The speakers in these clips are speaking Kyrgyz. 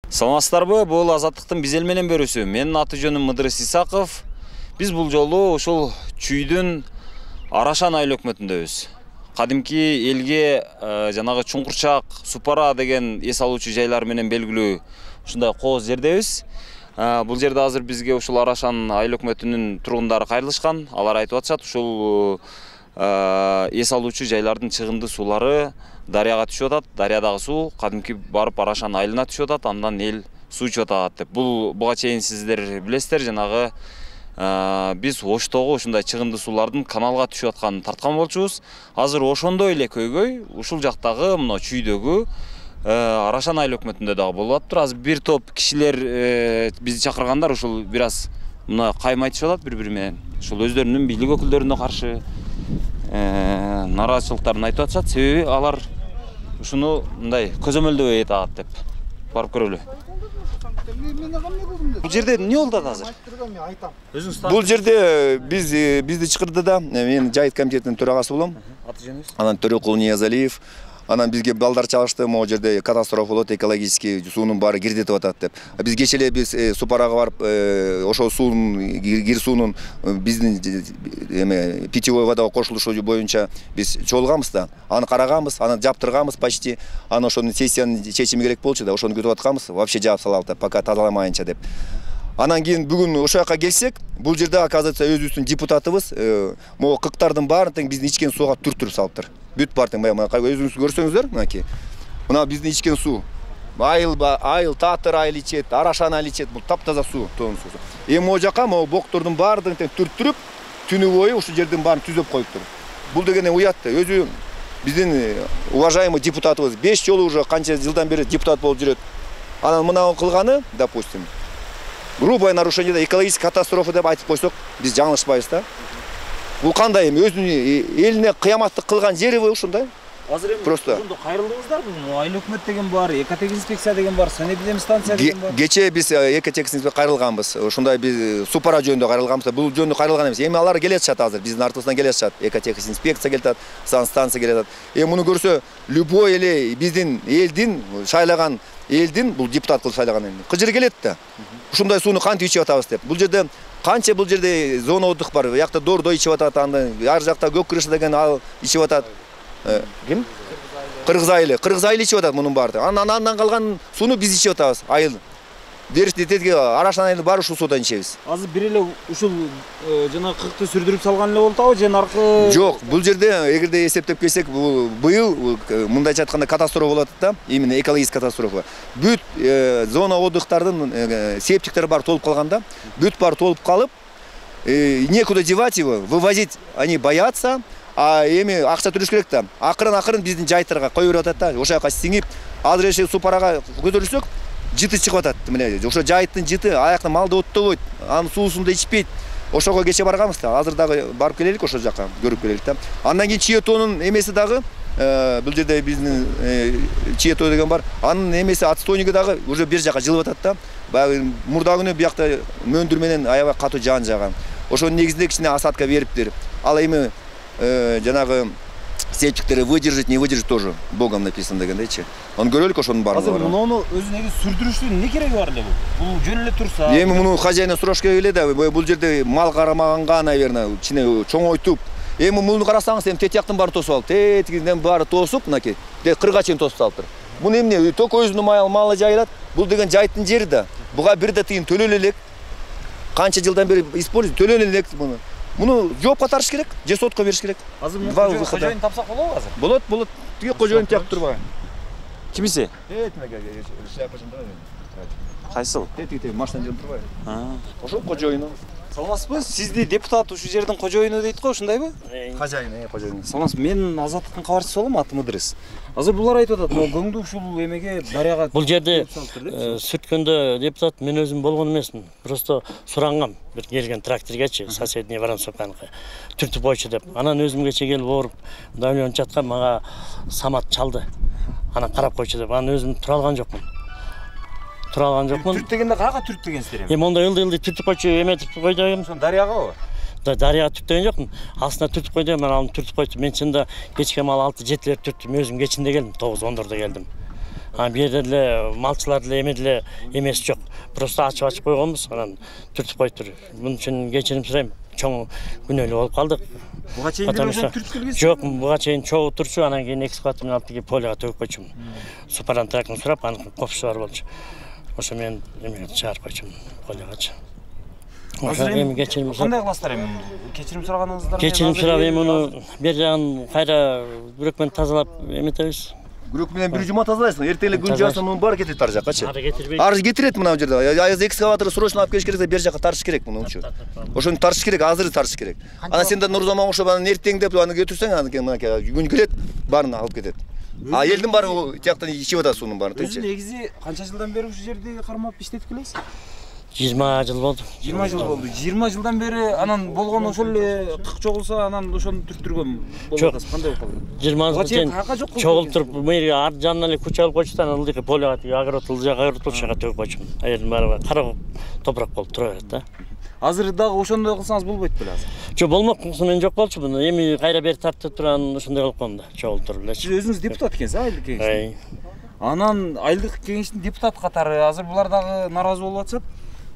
Саламатсыздарбы? Бул Азаттыктын биз эл менен бөрүсү. Менин аты жөнүм Мыдырыс Исаков. Биз бул жолу ушул Чүйдүн Арашан айыл өкмөтүндөбүз. Кадимки элге жанагы Чуңкурчак, Супара деген эс алуучу жайлар менен белгилүү ушундай кооз жердебиз. Бул жерде азыр бизге ушул Арашан айыл өкмөтүнүн тургундары кайрылышкан. Алар айтып атышат, ушул эс алуучу жайлардын чыгынды суулары дарыяга түшүп атат. Дарыядагы суу кадимки барып Арашан айылына түшүп атат, андан эл суу ичип атат деп. Буга чейин сиздер билесиздер, жанагы биз Оштогу ушундай чыгынды суулардын каналга түшүп атканын тарткан болчубуз. Азыр ошондой эле көйгөй ушул жактагы мына Чүйдөгү Арашан айыл өкмөтүндө дагы болуп атыптыр. Азыр бир топ кишилер бизди чакыргандар ушул бир аз мына каймайтышып атат бири-бири менен. Ушул өздөрүнүн бийлик өкүлдөрүнө каршы нараазычылыктарын айтып атышат. Себеби алар ушуну мындай көзөмөлдөбөй атат деп. Барып көрөлү. Бул жерде эмне болду азыр? Бул жерде бизди чакырды да, мен жайыт комитетинин төрагасы болом. Аты жөнүңүз? Анан Төрөкул Ниязалиев. Анан бизге балдар чалышты, могу жерде катастрофа болот, экологический суунун баары кирдетип атат деп. Биз кечээ эле биз Супарага барып, ошол суунун кир суунун биздин питьевой водага кошулушу боюнча биз чогулганбыз да. Аны караганбыз, аны жаптырганбыз почти. Аны ошонун сессиянын чечими керек болчу да, ошону күтүп атканбыз. Вообще жаап салалы деп, пока тазаламайынча деп. Анан кийин бүгүн ошол жака келсек, бул жерде оказывается өзүбүздүн депутатыбыз могу кыктардын баарын тең биздин ичкен сууга түртүрүп салыптыр. Бүт бартың өзүңүз көрсөңүздөр, мынакей. Мына биздин ичкен суу. Айыл Татыр айыл ичет, Арашан айыл ичет, бул таптаза суу, тоң суу. Эми могу жака могу боктордун баардыгын тең түртүрүп, түнү бою ушул жердин баарын түзөп коюптур. Бул деген уят. Өзү биздин уважаемый депутатыбыз 5 жолу уже канча жылдан бери депутат болуп жүрөт. Анан мына кылганы, допустим, грубое нарушение да, экологический катастрофа деп айтып койсок, биз жаңылышпайбыз да. Бул кандай эми өзүнүн элине кыяматтык кылган жериби ушундай? Азыр эми просто ошондо кайрылдыңыздар, айыл өкмөт деген бар, экотехинспекция деген бар, санэпидемстанция деген бар. Кечээ биз экотехинспекция кайрылганбыз. Ошондой биз Супара жөнүндө кайрылганбыз. Бул жөнүндө кайрылган эмес. Эми алар келе атышат азыр, биздин артыбыздан келе атышат. Экотехинспекция келе атат, санстанция келе атат. Эми муну көрсө, любой эле биздин элдин шайлаган элдин бул депутат кылып шайлаган элдин кыжыры келет да. Ушундай сууну кантип ичип атабыз деп. Бул жерде канча бул жерде зона отдых бар. Буякта Дордо ичип атат, анда ар жакта Көк крыша деген ал ичип атат. Ким? Кыргыз айылы ичип атат мунун баары. Андан калган сууну биз ичип атабыз. Айыл. Дерти Арашан айылы бар ушул суудан ичебиз. Азыр бир эле ушул жана кыкты сүрдүрүп салган эле болду, же наркы? Жок, бул жерде эгерде эсептеп келсек, быйыл мындайча айтканда катастрофа болот да, именно экологический катастрофа. Бүт зона отдыхтардын септиктери бар толуп калган да. Бүт бар толуп калып, некуда девать его, вывозить они боятся. А эми акча төлөш керек да. Акырын биздин жайыттарга кое берип атат да. Ошол жака сиңип, азыр эше Супарага көтөрүлсөк, жыты чыгып атат. Мына ошо жайыттын жыты аякта малды оттобойт, анын суусун да ичпейт. Ошого кече барганбыз да. Азыр дагы барып келелик ошол жака, көрүп келелик да. Андан кийин Чиетонун эмеси дагы бул жерде биздин Чието деген бар. Анын эмеси отстойниги дагы уже бир жака жылып атат да. Баягы мурда күнү биякта мөндүр менен аябай катуу жаан жааган. Ошонун негизинде кичине осадка бериптир. Ал эми жанагы септиктери выдержать, не выдержать тоже Богом написано дегендейчи. Оны көрөлүк ошонун баарын. Азыр муну өзү неге сүрдүрүштүн эмне кереги бар эле бул? Бул жөн эле турса. Эми муну хозяина сураш керек эле да. Бул жерде мал карамаганга, наверное, ичине чоңойтуп. Эми муну карасаңыз, эми тетияктын баары тосуп алып, тетигинен баары тосуп, мынакей, кырга чейин тосуп салыптыр. Бул эмне? Только өзүнүн малы жайылат. Бул деген жайыттын жери да. Буга бир да тыйын төлөлө элек. Канча жылдан бери используйт, төлөлө элек муну. Муну жоопко тартыш керек, же сотко бериш керек. Азыр кожоюн тапсак болобу азыр? Болот. Тиги кожоюн тияп турбайбы? Кимиси? Тимеге шляпасын турбайбы? Кайсыл? Тетиги машина жүрүп турбайбы? Ошол кожоюну. Саламатсызбы? Сизди депутат ушул жердин кожоюну дейт го, ушундайбы? Кожоюн. Саламатсыз, мен Азаттыктын кабарчысы болом, атым Мыдырыс. Азыр булар айтып атат, могу көңдү ушул эмеге дарыяга. Бул жерде сүрткөндө депутат мен өзүм болгон эмесмин. Просто сурангам бир келген тракторгачы, соседний Воронцовканыкы түртүп койчу деп. Анан өзүм кече келип ооруп, давление жаткан, мага самат чалды. Анан карап койчу деп. Анан өзүм тура алган жокмун. Түрт дегенде каяка түрт дегенсиздер эми? Эми монда ылды түртүп койчу, эметип койду эми. Ошон дарыягабы? Дарыяга түртүп деген жокмун. Астына түртүп койду, мен аны түртүп койдум. Мен чында кечке мал 6-7 түрттүм, өзүм кечинде келдим, 9-14-дө келдим. А бу жерде деле малчылар деле эме деле эмес жок. Просто ачып койгонбуз, анан түртүп коюптур. Мун үчүн кечирим сурайм. Чоң күнөөлүү болуп калдык. Буга чейин түртүп келбесиз? Жок, буга чейин чогуу турчу, анан кийин экскаватордун алып келип полига төгүп койчумун. Супаран трактын сурап, анын копчусу бар болчу. Ошо мен эмеге чыгарып койчумун полигачы. Азыр эми кечирим кандай кыласыздар эми? Кечирим сураганыңыздар? Кечирим сурап эми муну бер жагын кайра бүрөк менен тазалап эметебиз. Күрөк менен бир жума тазалайсың. Эртең эле күн жааса муну баары кетет ар жаккачы. Ары кетирбейт. Ары кетирет мына жерде. Айыз экскаватор срочно алып келиш керек, бер жакка тартыш керек мунучу. Ошону тартыш керек, азыр тартыш керек. Анан сен да Нурзаман ошо анан эртең деп аны кетирсең, анан мынакей күн келет, баарын алып кетет. А элдин баары тияктан ичип атат суунун баарын. Өзү негизи канча жылдан бери ушул жерде кармап иштетип келесиз? 20 жыл болду. 20 жыл болду. 20 жылдан бери анан болгон ошол эле кык чогулса анан ошону түрттүргөн болуп атасыз. Кандай болуп калды? 20 жыл чейин чогултуруп мэрия ар жанына эле күч алып койчу да, анан ылдый полига агрот ылжак агрот жака төгүп койчумун. Аердин баары кара топурак болуп тура берет да. Азыр дагы ошондой кылсаңыз болбойт беле азыр? Жок, болмок, мен жок болчу буну. Эми кайра бери тартып турган ошондой кылып коем да, чогултуруп элечи. Сиз өзүңүз депутат экенсиз, айылдык кеңештин. Анан айылдык кеңештин депутат катары азыр булар дагы нааразы болуп атышат.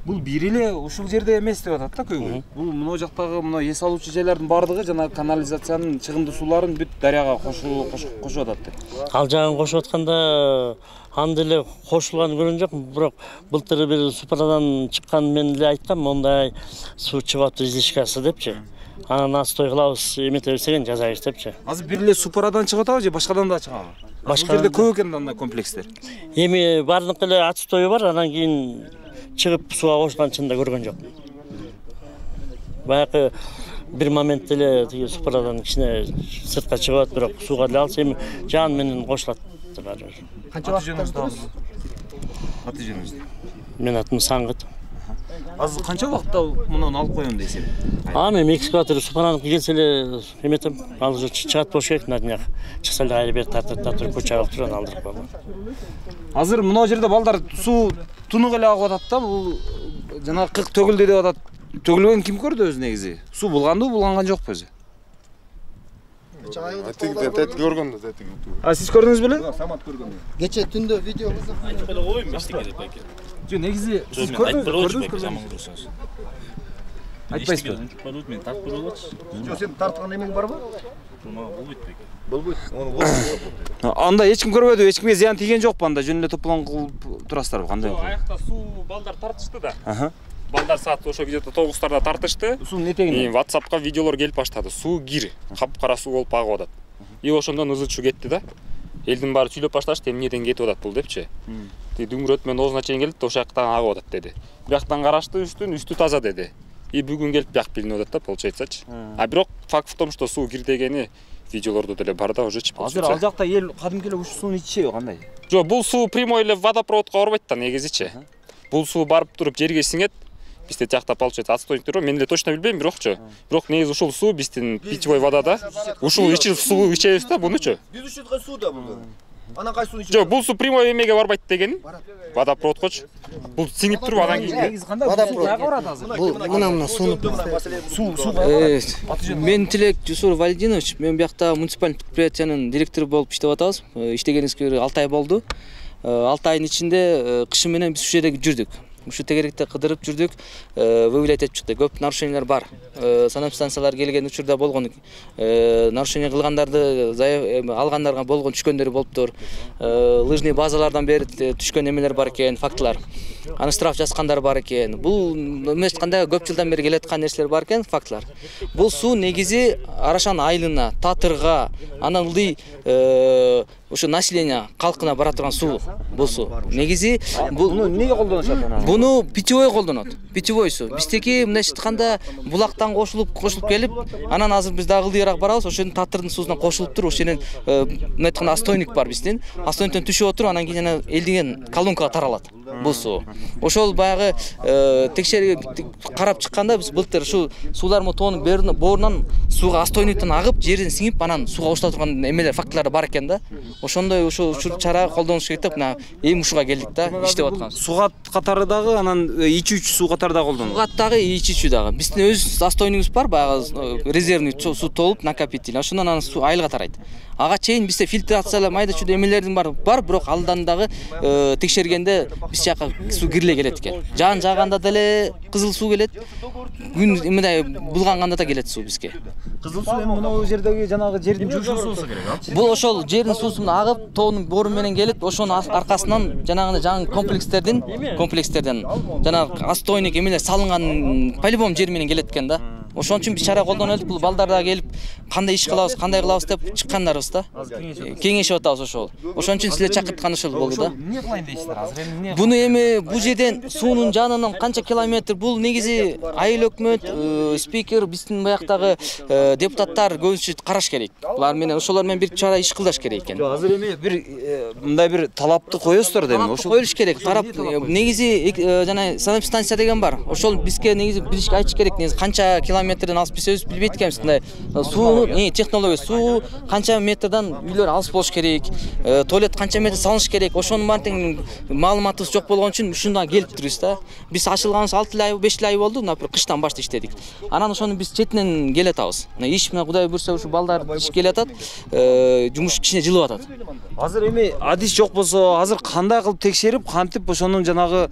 Бул бир эле ушул жерде эмес деп атат да көбү. Бул мына жактагы мына эс алуучу жайлардын баардыгы жана канализациянын чыгымдуу сууларын бүт дарыяга кошуп атат деп. Ал жагын кошуп атканда аны деле кошулганын көргөн жокмун, бирок былтыр бир супарадан чыккан мен деле айткам, мондай суу чыгып атты излишкасы депчи. Анан астой кылабыз, эметебиз деген жазайбыз депчи. Азыр бир эле супарадан чыгып атабы же башкадан да чыгабы? Башка жерде көп экен андай комплекстер. Эми баардык эле отстою бар, анан кийин чыгып сууга кошулган чында көргөн жокмун. Баягы бир момент эле тиги супарадан кичине сыртка чыгып атат, бирок сууга деле алса эми жан менен кошулат баары. Канча жөнүңүздү алды? Аты жөнүңүздү? Менин атым Саңгыт. Азыр канча убакытта мунун алып коем дейсиз? Эми экскаватор супараныкы келсе эле эметем, ал уже чыгат болуш керек, на днях. Чыкса эле кайра бери тартып көчө алып туруп алдырып коем. Азыр мына жерде балдар суу тунук эле агып атат да, бул жана кык төгүлдү деп атат. Төгүлгөн ким көрдү өзү негизи? Суу булганды, булганган жокпу өзү? Тетик көргөндү, тетик. Сиз көрдүңүз беле? Самат көргөн. Кече түндө видео кызып. Айтып эле коеюн эчтеке деп экен. Жок, негизи сиз көрдүңүз? Айтпайсызбы? Болот мен тартып көрөбөчү. Жок, сен тарткан эмең барбы? Болбойт бекен. Болбойт. Ону болбойт. Анда эч ким көрбөдү, эч кимге зыян тийген жокпу анда? Жөн эле топлон кылып турасыздарбы? Кандай? Аякта суу балдар тартышты да. Балдар саат ошо где-то 9-тарда тартышты. Суунун этегине. WhatsApp'ка видеолор келип баштады. Суу кир, капкара суу болуп агып атат. И ошондон ызычуу кетти да. Элдин баары сүйлөп башташты, эмнеден кетип атат бул депчи. Дүңгүрөт менен оозуна чейин келди, ошол жактан агып атат деди. Бияктан карашты үстү таза деди. И бүгүн келип бияк билинип атат да, получается. А бирок факт в том, что суу кир дегени видеолордо деле бар да, уже чип. Азыр ал жакта эл кадимки эле ушул сууну ичишеби кандай? Жок, бул суу прямой эле водопроводко барбайт да негизичи. Бул суу барып туруп жерге сиңет. Бизде тиякта получается отстойниктер бар. Мен эле точно билбейм, бирокчу. Бирок негизи ушул суу биздин питьевой вода да. Ушул ичип суу ичебиз да бунучу. Биз ичет суу да бул. Анан кайсы сууну ичет? Жок, бул суу прямой эмеге барбайт деген. Водопроводкочу. Бул сиңип туруп анан кийин. Негизи кандай? Водопровод барат азыр. Бул мына сууну. Мен Тилек Жусур Валидинович, мен биякта муниципалдык предприятиянын директору болуп иштеп атабыз. Иштегенибизге 6 ай болду. 6 айдын ичинде кышы менен биз ушул жерде жүрдүк. Ушу тегеректе кыдырып жүрдүк, выявлять этип чыкты. Көп нарушениялар бар. Санэпстанциялар келген учурда болгон нарушение кылгандарды алгандарга болгон түшкөндөр болуптур. Лыжный базалардан бери түшкөн эмелер бар экен, фактылар. Аны штраф жазгандар бар экен. Бул эмес кандай көп жылдан бери келаткан нерселер бар экен, фактылар. Бул суу негизи Арашан айылына, Татырга, анан ылдый ошо население калкына бара турган суу. Бул суу. Негизи Буну эмнеге колдонушат анан? Буну питьевой колдонот. Питьевой суу. Биздеки мындай айтканда булактан кошулуп келип, анан азыр биз дагы ылдыйраак барабыз. Ошонун Татырдын суусуна кошулуп туруп, ошонун мындай айтканда отстойник бар биздин. Отстойниктен түшүп отуруп, анан кийин элдиген колонкага таралат. бул суу. Ошол баягы текшерип карап чыкканда биз былтыр ушу суулар тоонун боорунан сууга отстойниктен агып, жерден сиңип, анан сууга кошула турган эмелер, фактылар бар экен да. Ошондой ушул чара колдонуш керек деп, мына эми ушуга келдик да, иштеп атканбыз. Сугат катары дагы, анан ичүүчү суу катары дагы колдонулат. Сугат дагы, ичүүчү дагы. Биздин өз отстойнигибиз бар, баягы резервный суу толуп, накопитель. Ошондон анан суу айылга тарайт. Ага чейин бизде фильтрациялар, майда чүйдө эмелердин бар, бирок алдан дагы текшергенде биз жака суу кириле келет экен. Жаан жааганда деле кызыл суу келет. Күн мындай булганганда да келет суу бизге. Кызыл суу эми мына жердеги жанагы жердин жуушун суусу керек, а? Бул ошол жердин суусун агып, тоонун боору менен келип, ошонун аркасынан жанагы жаңы комплекстерден жанагы отстойник эмелер салынган по-любому жер менен келет экен да. Ошон үчүн биз чара колдонуп элдик. Бул балдар да келип, кандай иш кылабыз, кандай кылабыз деп чыккандарыбыз да. Кеңешип атабыз ошол. Ошон үчүн силер чакырткан ошол болду да. Эмне кылайын дейсиздер азыр? Эмне? Буну эми бул жерден суунун жанынан канча километр, бул негизи айыл өкмөт, спикер, биздин баяктагы депутаттар көбүнчө караш керек. Булар менен ошолор менен бир чара иш кылдаш керек экен. Азыр эми бир мындай бир талапты коесуздар да эми ошол коюлуш керек. Карап, негизи жана санэпстанция деген бар. Ошол бизге негизи билишке айтыш керек. Негизи канча метрден алыс биз өзүбүз билбейт экенбиз. Мындай суунун технология, суу канча метрден үйлөр алыс болуш керек, туалет канча метр салыныш керек. Ошонун баарын маалыматыбыз жок болгон үчүн ушундан келип турбуз да. Биз ачылганыбыз 6 ай, 5 ай болду. Например, кыштан баштап иштедик. Анан ошону биз четинен келе атабыз. Иш мына Кудай буйрса ушу балдар иш келе атат, жумуш кичине жылып атат. Азыр эми адис жок болсо, азыр кандай кылып текшерип, кантип ошонун жанагы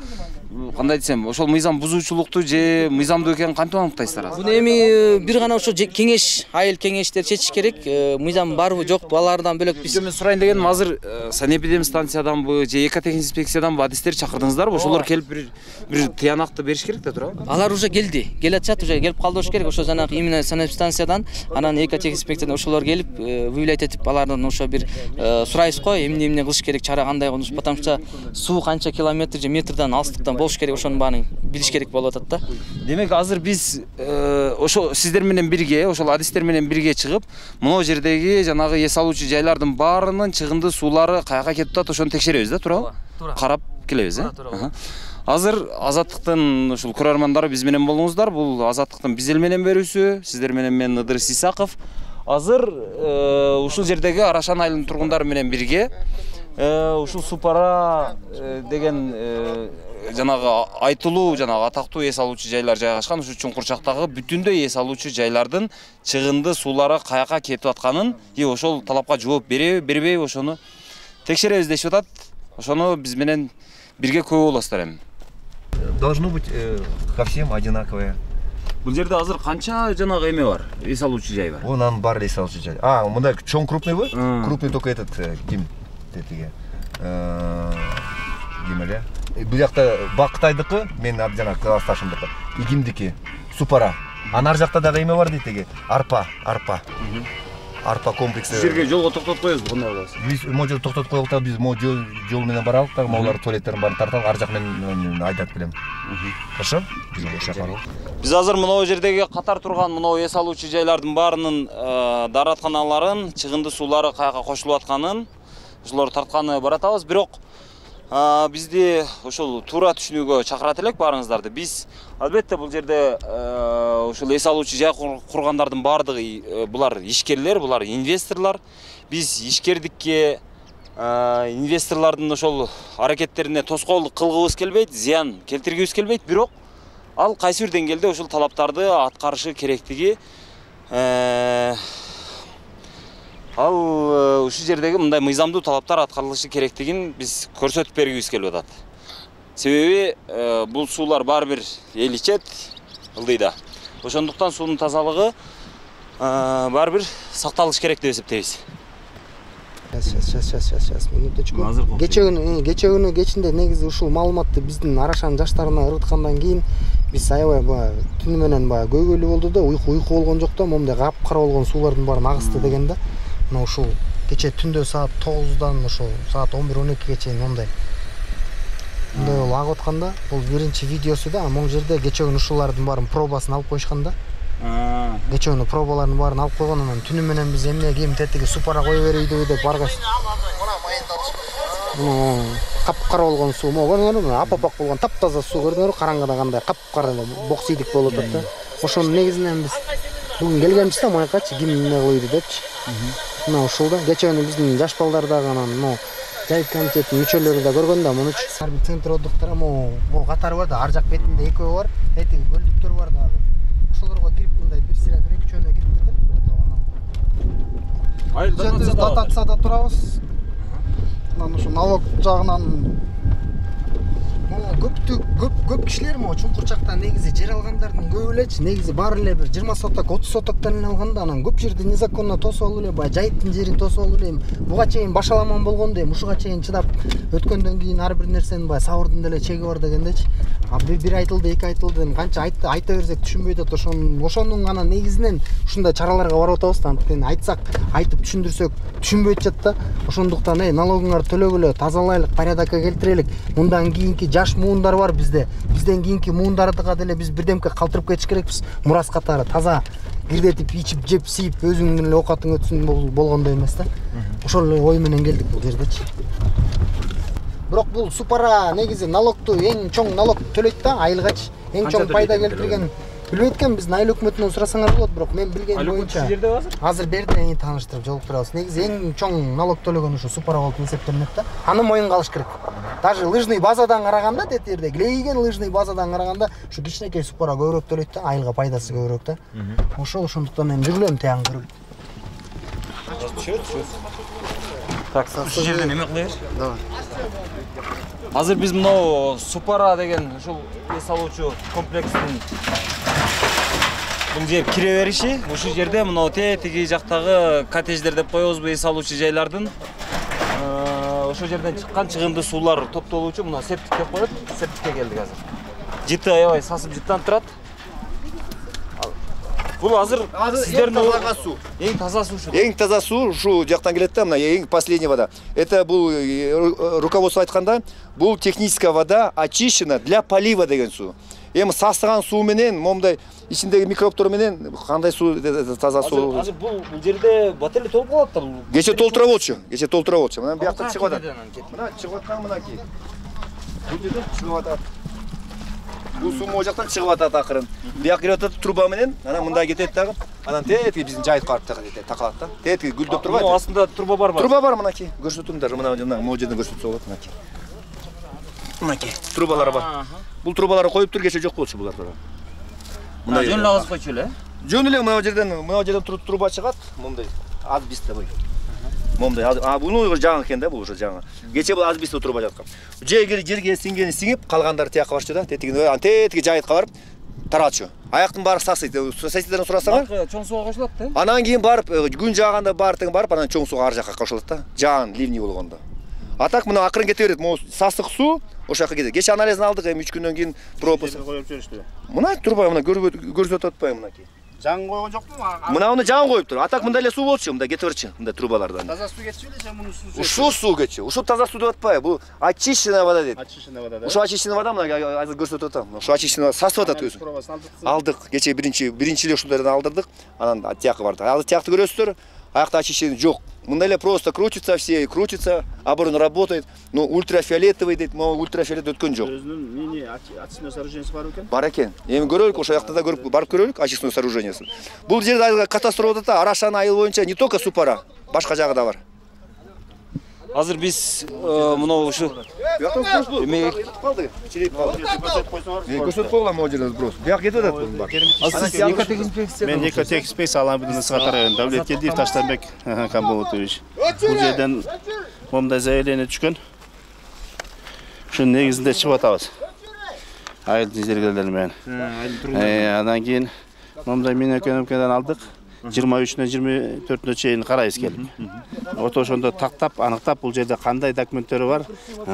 кандай десем, ошол мыйзам бузуучулукту же мыйзамдуу экенин кантип аныктайсыздар азыр? Буну эми бир гана ошо кеңеш, айыл кеңештер чечиш керек. Мыйзам барбы, жокпу, алардан бөлөк биз. Мен сурайын дегеним, азыр санэпидемстанцияданбы же экотехинспекцияданбы адистерди чакырдыңыздарбы? Ошолор келип бир тыянакты бериш керек да туурабы? Алар уже келди. Келатышат, уже келип калды болуш керек. Ошо жанагы именно санэпстанциядан, анан экотехинспекциядан ошолор келип, выявлять этип, алардан ошо бир сурайбыз го, эмне кылыш керек, чара кандай кылыш, потому что суу канча километр же метрден алыстыктан болуш керек, ошонун баарын билиш керек болуп атат да. Демек азыр биз ошо сиздер менен бирге, ошол адистер менен бирге чыгып, могу жердеги жанагы эс алуучу жайлардын баарынын чыгынды суулары каяка кетип атат, ошону текшеребиз да, туурабы? Карап келебиз, Азыр Азаттыктын ушул көрөрмандары биз менен болуңуздар. Бул Азаттыктын биз эл менен берүүсү. Сиздер менен мен Ыдырыс Исаков. Азыр ушул жердеги Арашан айылынын тургундары менен бирге ушул Супара деген жанагы айтылуу, жанагы атактуу эс алуучу жайлар жайгашкан ушул чуңкурчактагы бүтүндөй эс алуучу жайлардын чыгынды суулары каяка кетип атканын, ошол талапка жооп береби, бербейби, ошону текшеребиз дешип атат. Ошону биз менен бирге көрүү болосуздар эми. Должно быть ко всем одинаковое. Бул жерде азыр канча жанагы эме бар? Эс алуучу жай бар. Онан бар эс алуучу жай. Мындай чоң крупныйбы? Крупный только этот ким тетиги. Демеле. Бул жакта Бактайдыкы, мен жанагы классташымдыкы. Игимдики, Супара. Ар жакта дагы эме бар дейт эге. Арпа арпа комплекси. Жерге жолго токтотуп коебузбу, кандай кылабыз? Биз могу токтотуп коелук да, биз жол менен баралык да, могулар туалеттерин баарын тарталык, ар жак менен айдап келем. Хорошо? Биз азыр мына жердеги катар турган мына эс алуучу жайлардын баарынын дааратканаларын, чыгынды суулары каяка кошулуп атканын, ошолорду тартканы баратабыз. Бирок бизди ошол туура түшүнүүгө чакырат элек баарыңыздарды. Биз албетте бул жерде ошол эс алуучу жай кургандардын баардыгы булар ишкерлер, булар инвесторлор. Биз ишкердикке, инвесторлордун ошол аракеттерине тоскоолдук кылгыбыз келбейт, зыян келтиргибиз келбейт, бирок ал кайсы бир деңгээлде ошол талаптарды аткарышы керектиги, ал ушул жердеги мындай мыйзамдуу талаптар аткарылышы керектигин биз көрсөтүп бергибиз келип атат. Себеби бул суулар баары бир эл ичет, ылдыйда. Ошондуктан суунун тазалыгы баары бир сакталыш керек деп эсептейбиз. Сейчас, минуточку. Кече күнү кечинде негизи ушул маалыматты биздин Арашан жаштарына ыргыткандан кийин биз аябай баягы түнү менен баягы көйгөйлүү болду да, уйку болгон жок да, момундай капкара болгон суулардын баарын агысты деген да. Мына ушул кече түндө саат 9-дан ошол саат 11-12ге чейин мындай болуп агып атканда, бул биринчи видеосу да, могу жерде кече күнү ушулардын баарын пробасын алып коюшкан да. Кече күнү пробалардын баарын алып койгон, анан түнү менен биз эмне кийим тетиги Супара кое берейби деп баргас. капкара болгон суу могу көрдүңөрбү? Апапак болгон таптаза суу көрдүңөрбү? Караңгыда кандай капкара бок сейдик болуп атат да. Ошонун негизинен биз бүгүн келгенбиз да маякачы ким эмне кылыйды депчи. Мына ушул да кечээ биздин жаш балдар дагы анан могу жайыт комитетинин мүчөлөрү да көргөн да мунучу. Ар бир центр отдыхтар могу катары бар да, ар жак бетинде экөө бар, этиги көлдүктөр бар дагы. Ошолорго кирип мындай бир сыйра 1-2 жөнүнө кирип кетет. Дотацияда турабыз. Анан ушу налог жагынан көп кишилер чуңкурчакта негизи жер алгандардын көбү элечи негизи баары эле бир 20 соток 30 соттоктон эле алганда анан көп жерди незаконно тосуп алып эле баягы жайыттын жерин тосуп алып эле буга чейин башаламан болгондо ушуга чейин чыдап өткөндөн кийин ар бир нерсени баягы сабырдын деле чеги бар дегендечи. Бир айтылды, эки айтылды, канча айта берсек түшүнбөй атат. Ошонун гана негизинен ушундай чараларга барып атабыз да. Анткени айтсак, айтып түшүндүрсөк түшүнбөй атышат да. Ошондуктан налогуңарды төлөгүлө, тазалайлык, порядокко келтирелик. Мындан кийинки жаш муундар бар бизде. Бизден кийинки муундардыга деле биз бирдемке калтырып кетиш керекпиз. Мурас катары таза кирдетип, ичип, жеп, сийип, өзүңдүн эле оокатың өтсүн болгондой эмес да. Ошол эле ой менен келдик бул жердечи. Бирок бул супара негизи налогту эң чоң налог төлөйт да, айылгачы. Эң чоң пайда келтирген билбейт экен, биздин айыл өкмөтүнөн сурасаңар болот, бирок мен билген боюнча азыр берди тааныштырып жолуктурабыз. Негизи эң чоң налог төлөгөн ушу супара болуп эсептелинет да. Аны моюнга алыш керек. Даже лыжный базадан караганда, тетирде клейген лыжный базадан караганда ушу кичинекей супара көбүрөөк төлөйт да, айылга пайдасы көбүрөөк да. Ошондуктан мен жүргүлөм тияң көрүп. Так, ушул жерден эме кылайынчы? Давай. Азыр биз мынау Супара деген ушул эс алуучу комплекстин бул жер кире бериши. Ушул жерде мынау тетиги жактагы коттедждер деп коебузбу, эс алуучу жайлардын ошол жерден чыккан чыгымды суулар топтолуучу мына септик деп коет. Септикке келдик азыр. Жыты аябай сасып жыттанып турат. Бул азыр сиздердин эң таза суу ушу. Эң таза суу ушу жактан келет да, мына эң последний вода. Это бул руководство айтканда, бул техническая вода очищена для полива деген суу. Эми сасыган суу менен, момундай ичиндеги микробтор менен кандай суу таза суу. Азыр бул жерде бателе толуп калат да бул. Кече толтура болчу. Мына бияктан чыгып атат. Мына чыгып аткан мынакей. Бул жерден чыгып атат. Бул суу могу жактан чыгып атат акырын. Бияк кирип атат труба менен, анан мында кетет дагы. Анан тетиги биздин жайытка барып такалат да. Тетиги гүлдөп турбайбы? Мына астында труба барбы? Труба бар мынакей. Көрсөтүңдөр, мына могу жерден көрсөтсө болот мынакей. Мынакей трубалар бар. Бул трубаларды коюп тур, кече жок болчу булар. Мына жөн эле агызып койчу эле. Жөн эле мына жерден труба чыгат, момундай азбистовый. Момундай, буну жаңы экен да, бул ушу жаңы. Кече бул азбистовый труба жаткан. Жерге сиңгени сиңип, калгандары тияка барчу да, тетиги жайытка барып таралчу. Аяктын баары сасыйт. Соседтерден сурасаңар, чоң сууга кошулат да. Анан кийин барып, күн жааганда баары тең барып, анан чоң сууга ар жакка кошулат да. Жаан ливний болгондо. А так мына акырын кете берет. Могу сасык суу ошол жака кетет. Кече анализин алдык, эми 3 күндөн кийин пропуск коюп жүрүштү. Мына турбай, мына көрсөтүп атпайбы мынакей. Жаңы койгон жокпу? Мына жаңы коюптур. А так мындай эле суу болчу, мында кетип берчү, мында трубалардан. Таза суу кетчү беле же муну суу? Ушул суу кетчү. Ушул таза суу деп атпайбы? Бул очищенная вода дейт. Очищенная вода да. Ушул очищенная вода мына азыр көрсөтүп атам. Ушул очищенная сасып атат өзү. Алдык. Кече биринчи эле ушул жерден алдырдык. Анан тияка барды. Азыр тиякты көрөсүздөр. Аякта очищение жок. Мындай эле просто крутится, оборон работает. Но ультрафиолетовый дейт, могу ультрафиолет өткөн жок. Өзүнүн мини очистной сооружениеси бар экен. Бар экен. Эми көрөлүк, ошол жакта да көрүп барып көрөлүк очистной сооружениясын. Бул жерде катастрофа болот да, Арашан айыл боюнча не только Супара, башка жагы да бар. Азыр биз мына ушу эме калды, чиреп калды. Көрсөтүп койгула могу жерде просто. Бияк кетип атат бунун баары. Мен экотекспекция алабын сакатар Давлеткелдиев Таштанбек Камболотович. Бул жерден момундай заявление түшкөн. Ушунун негизинде чыгып атабыз. Айылдын жергелери менен. Андан кийин момундай мен экономикадан алдык. 23-нөн 24-нө чейин карайбыз келип. Ошондо тактап, аныктап бул жерде кандай документтери бар,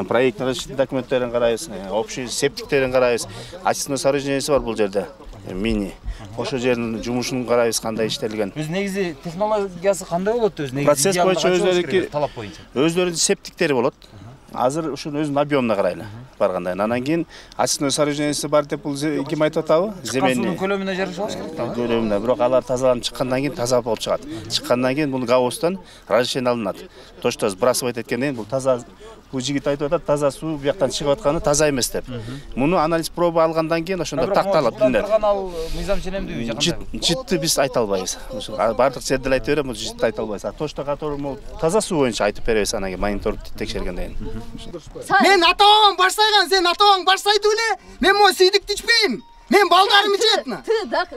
проектный документтерин карайбыз, общий септиктерин карайбыз, очистной сооружениясы бар бул жерде. Мини. Ошол жердин жумушун карайбыз кандай иштелген. Өз негизи технологиясы кандай болот өзү негизи? Процесс боюнча өздөрүнүн талап боюнча. Өздөрүнүн септиктери болот. Азыр ушунун өзүнүн объемуна карайлы баргандай. Анан кийин очистной сооружениясы бар деп бул ким айтып атабы? Земельный. Көлөмүнө жараша алыш керек да. Көлөмүнө, бирок алар тазаланып чыккандан кийин таза болуп чыгат. Чыккандан кийин бул гаустан разрешение алынат. То, что сбрасывать эткенден кийин бул таза бул жигит айтып атат, таза суу бияктан чыгып атканы таза эмес деп. Муну анализ проба алгандан кийин ошондо такталат билинет. Ал мыйзам ченемдүүбү? Житти биз айта албайбыз. Бардык жерде айта берем, бул житти айта албайбыз. Точно катары могу таза суу боюнча айтып беребиз анан кийин мониторду текшергенден кийин. Мен ата-бабам баш сайган, сен ата-бабаң баш сайды эле. Мен могу сүйдүктү ичпейм. Мен балдарым ичет. Ты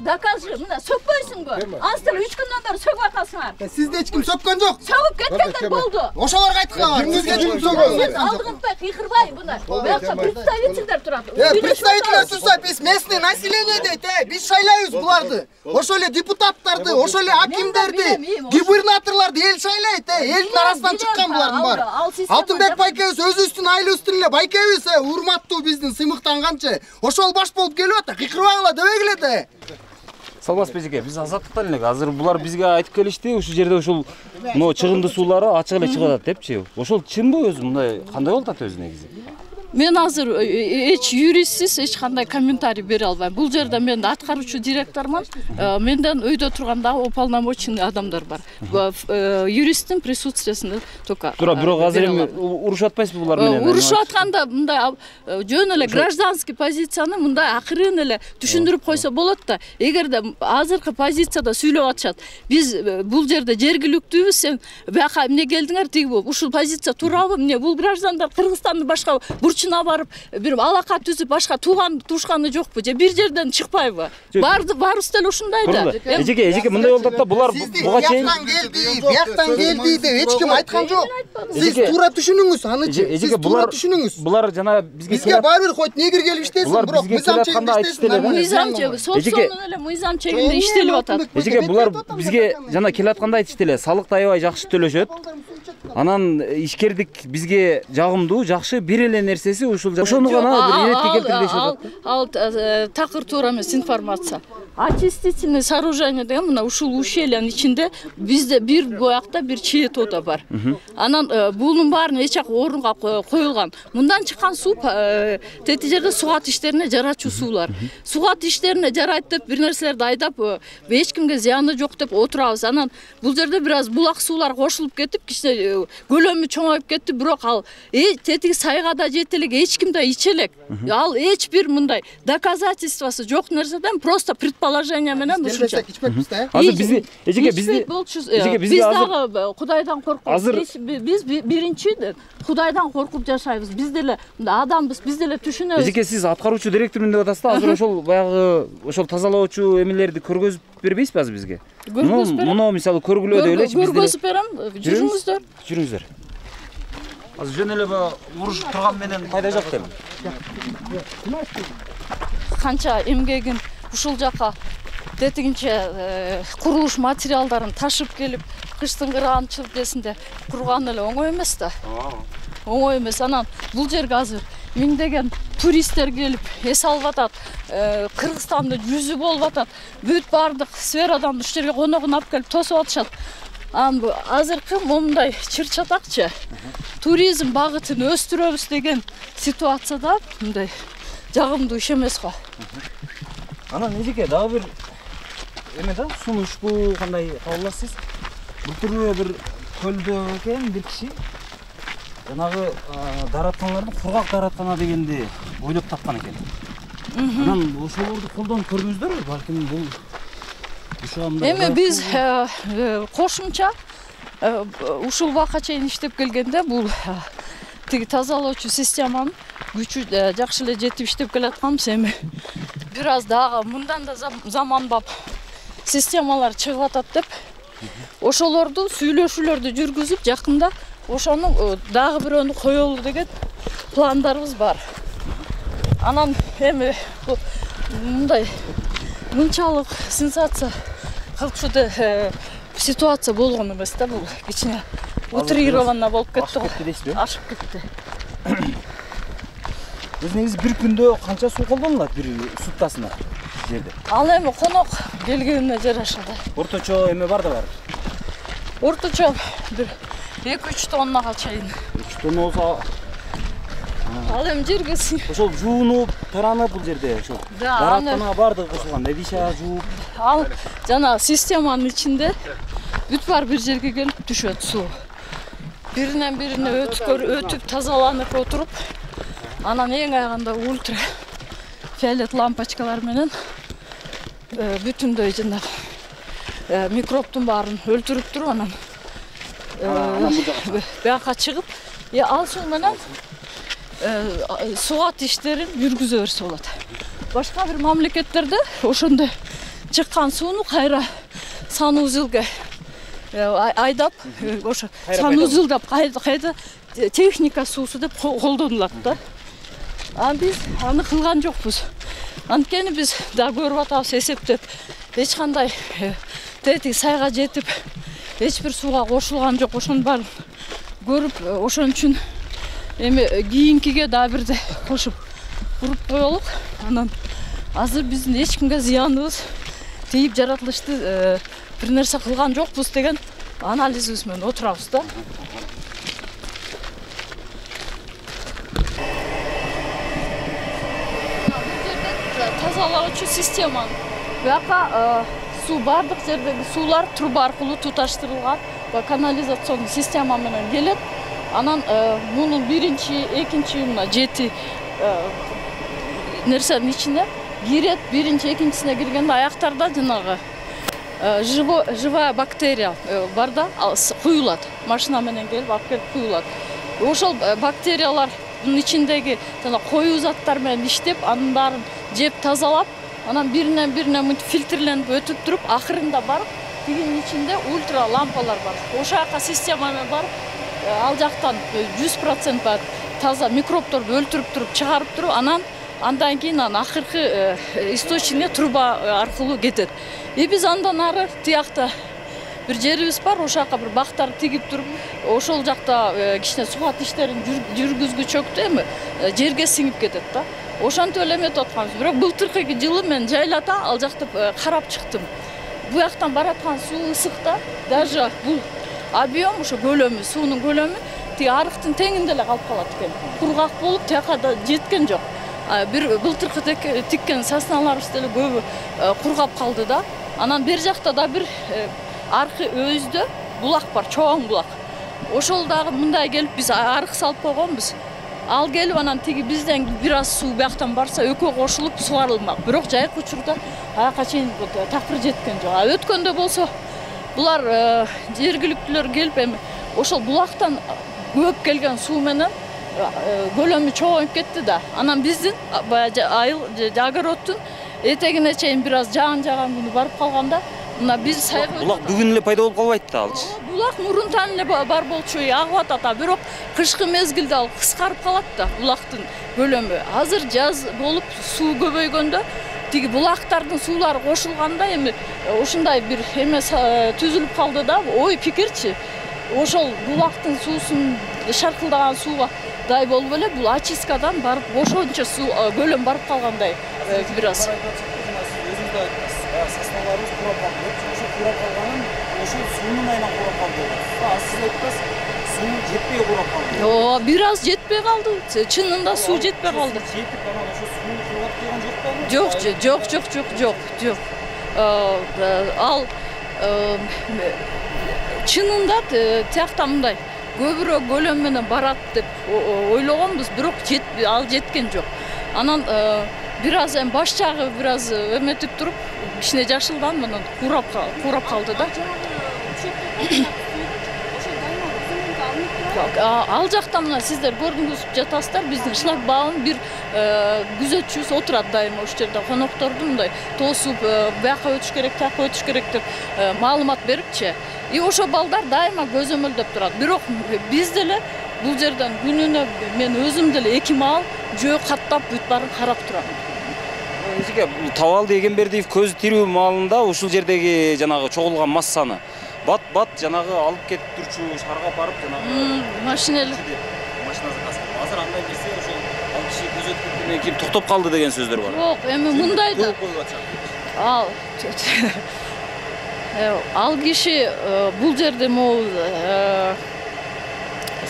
докажи, мына сөкпөйсүңбү? Астыр 3 күндөн бери сөкүп атасыңар. Сизди эч ким сөккөн жок. Сөгүп кеткендер болду. Ошолорго айткыла. Сизге эч ким сөккөн жок. Алдыңызбай, кыйкырбай мына. Буякта представительдер турат. Представительдер турса, биз местный население дейт, биз шайлайбыз буларды. Ошол эле депутаттарды, ошол эле акимдерди, губернаторлорду эл шайлайт, элдин арасынан чыккан булардын баары. Алтынбек байкебиз өзүбүздүн айлыбыздын эле байкебиз, урматтуу биздин сыймыктанганчы. Ошол баш болуп келип атат. Кыйкырбаңла дебегиле да. Салбас бежеке, биз азаттыктан элек. Азыр булар бизге айтып келишти, ушул жерде ушул мына чыгынды суулары ачык эле чыгып атат депчи. Ошол чынбы өзү мындай кандай болуп атат өзү негизи? Мен азыр эч юристсиз эч кандай комментарий бере албайм. Бул жерде мен аткаруучу директормун. Менден өйдө турганда уполномоченный адамдар бар. Юристтин присутствиесинде только. Тура, бирок азыр эми урушуп атпайсызбы булар менен? Урушуп атканда мындай жөн эле гражданский позицияны мындай акырын эле түшүндүрүп койсо болот да. Эгерде азыркы позицияда сүйлөп атышат, биз бул жерде жергиликтүүбүз, сен бияка эмне келдиңер тиги болуп, ушул позиция туурабы? Эмне бул граждандар Кыргызстанды башка бурчуна барып, бир алака түзүп башка туушканы жокпу же бир жерден чыкпайбы? Баарыбыз деле ушундай да. Эжеке мындай болуп атат да, булар буга чейин бияктан келди деп эч ким айткан жок. Сиз туура түшүнүңүз, анычы. Сиз туура түшүнүңүз. Булар жана бизге баары бир койт негир келип иштесин, бирок мыйзам чегинде иштесин. Мыйзам чегинде, собственный эле мыйзам чегинде иштелип атат. Эжеке булар бизге жана келатканда айтышты эле, салыкты аябай жакшы төлөшөт. Анан ишкердик бизге жагымдуу, жакшы бир эле нерсеси ошону гана бир иретке келтиришет. Ал такыр туура эмес информация. Очистительный сооружение деген мына ушул ущельянын ичинде бизде бир буякта бир чет ода бар. Анан бунун баарын эч жак орунга коюлган. Мындан чыккан суу тети жерде сугат иштерине жарачу суулар. Сугат иштерине жарайт деп бир нерселерди айдап, эч кимге зыяны жок деп отурабыз. Анан бул жерде бир аз булак суулар кошулуп кетип, кичине көлөмү чоңоюп кетти, бирок ал тетиги сайга да жете элек, эч ким да иче элек. Ал эч бир мындай доказательствосы жок нерседен просто предположение менен ушунча. Азыр бизди бизди дагы Кудайдан коркуп, биз биринчи Кудайдан коркуп жашайбыз. Биз деле адамбыз, биз деле түшүнөбүз. Эжеке, сиз аткаруучу директормун деп атасыз да, азыр ошол баягы ошол тазалоочу эмелерди көргөзүп бербейсизби азыр бизге? Көргөзүп берем. Муну мисалы көргүлө деп элечи бизде. Көргөзүп берем, жүрүңүздөр. Жүрүңүздөр. Азыр жөн эле урушуп турган менен пайда жок дейм. Канча эмгегин ушул жака тетигинче курулуш материалдарын ташып келип, кыштын кырган чилдесинде курган эле оңой эмес да. Оңой эмес. Анан бул жерге азыр миңдеген туристтер келип эс алып атат. Кыргызстанды жүзү болуп атат. Бүт бардык сферадан ушул жерге коногун алып келип тосуп атышат. Анан азыркы момундай чыр-чатакчы туризм багытын өстүрөбүз деген ситуацияда мындай жагымдуу иш эмес го. Анан эжеке дагы бир эме да, сунуштуу кандай кабыл аласыз? Былтыр бир көлдө экен бир киши жанагы даратканаларды кургак дараткана дегенди ойлоп тапкан экен. Анан ошолорду колдонуп көрдүңүздөрбү? Балким бул эми биз кошумча ушул убакка чейин иштеп келгенде бул тиги тазалоочу системанын күчү жакшы эле жетип иштеп келатканбыз. Эми бир аз дагы мындан да заманбап системалар чыгып атат деп ошолорду сүйлөшүүлөрдү жүргүзүп жакында ошону дагы бирөөнү коелу деген пландарыбыз бар. Анан эми мындай мынчалык сенсация кылчу ситуация болгон эмес да, бул кичине утрированно болуп кетти го. Ашып кетти. Өз негизи бир күндө канча суу колдонулат бир суткасына жерде? Ал эми конок келгенине жараша да. Орточо эме бар да бар. Орточо бир 2-3 тоннага чейин. 3 тонна болсо ал эми жерге ошол жуунуп, таранып бул жерде ошол. Даратканага бардыгы кошулган, Эдиша жууп. Ал жана системанын ичинде бүт бар бир жерге келип түшөт суу. биринен бирине өтүп тазаланып отуруп, анан эң аягында ультра фиолет лампочкалар менен бүтүндөй жанагы микробтун баарын өлтүрүп туруп, анан бияка чыгып, ал суу менен сугат иштерин жүргүзө берсе болот. Башка бир мамлекеттерде ошондой чыккан сууну кайра санузелге айдап, ошо санузелдеп кайда техника суусу деп колдонулат да. Биз аны кылган жокпуз. Анткени биз да көрүп атабыз, эсептеп, эч кандай тети сайга жетип, эч бир сууга кошулган жок. Ошонун баарын көрүп, ошон үчүн эми кийинкиге да бирде кошуп куруп коелук. Анан азыр биздин эч кимге зыяныбыз тийип жаратылышты бир нерсе кылган жокпуз деген анализибиз менен отурабыз да. Тазалоочу система. Бияка суу бардык жердеги суулар труба аркылуу туташтырылган, канализационный система менен келет. Анан мунун биринчи, экинчи, мына 7 нерсенин ичине кирет. Биринчи, экинчисине киргенде аяктарда жанагы живая бактерия бар да, куюлат. Машина менен келип алып келип куюлат. Ошол бактериялардын ичиндеги жана коюу заттар менен иштеп, анын баарын жеп тазалап, анан биринен бирине мынтип фильтрленип өтүп туруп, акырында барып, тигинин ичинде ультра лампалар бар. Ошол жака система менен барып, ал жактан 100% таза микробторду өлтүрүп туруп, чыгарып туруп, андан кийин акыркы источниге труба аркылуу кетет. Биз андан ары тиякта бир жерибиз бар, ошол жака бир бактар тигип туруп, ошол жакта кичине сугат иштерин жүргүзгүчөктү эми жерге сиңип кетет да. Ошентип эле эметип атканбыз. Бирок былтыркы жылы мен жайлата ал жакты карап чыктым. Буяктан бараткан суу ысык да, даже бул объем, ошо көлөмү, суунун көлөмү тиги арыктын теңинде эле калып калат экен. Кургак болуп, тияка да жеткен жок. Бир былтыркы тиккен сосналарыбыз деле көбү кургап калды да. Анан бер жакта да бир аркы өздө булак бар, чоң булак. Ошол дагы мындай келип биз арык салып койгонбуз. Ал келип анан тиги бизден бир аз суу бияктан барса экөө кошулуп сугарылмак. Бирок жайкы учурда аяка чейин такыр жеткен жок. Өткөндө болсо булар жергиликтүүлөр келип эми ошол булактан көп келген суу менен көлөмү чоңоюп кетти да. Анан биздин айыл огородтун этегине чейин бир аз жаган күнү барып калганда, мына биз сайга булак бүгүн эле пайда болуп калбайт да алчы. Булак мурунтан эле бар болчу, агып атат, бирок кышкы мезгилде ал кыскарып калат да булактын көлөмү. Азыр жаз болуп суу көбөйгөндө тиги булактардын суулары кошулганда эми ушундай бир эме түзүлүп калды да, ой пикирчи. Ошол булактын суусун шаркылдаган сууга дай болуп эле бул очисткадан барып ошончо суу көлөм барып калгандай бир аз. Өзүңүз да айттыңыз, сосналарыбыз курап калды. Ошо курап калганын ошол суунун айынан курап калды. Сиз айттыңыз, суу жетпей курап калды. Бир аз жетпей калды. Чынында суу жетпей калды. Жетип анан ошо сууну курап калган жокпу? Жок. Ал чынында тиякта мындай көбүрөөк көлөм менен барат деп ойлогонбуз, бирок ал жеткен жок. Анан бир аз баш жагы бир аз эметип туруп, кичине жашылдан менен курап калды да. Ал жакта мына сиздер көрүнгүзүп жатасыздар, биздин шлагбаум бир күзөтчүбүз отурат дайыма ошол жерде конокторду мындай тосуп, бияка өтүш керек, тияка өтүш керек деп маалымат берипчи. Ошо балдар дайыма көзөмөлдөп турат. Бирок биз деле бул жерден күнүнө мен өзүм деле 2 маал жөө каттап бүт баарын карап турам. Эжеке, Табалды Эгембердиев көзү тирүү маалында ушул жердеги жанагы чогулган массаны бат жанагы алып кетип турчу, шаарга барып жанагы машинасы азыр андай нерсе ошол ал киши көз өткөндөн кийин токтоп калды деген сөздөр бар. Жок, эми мындай да. Ал киши бул жерде могу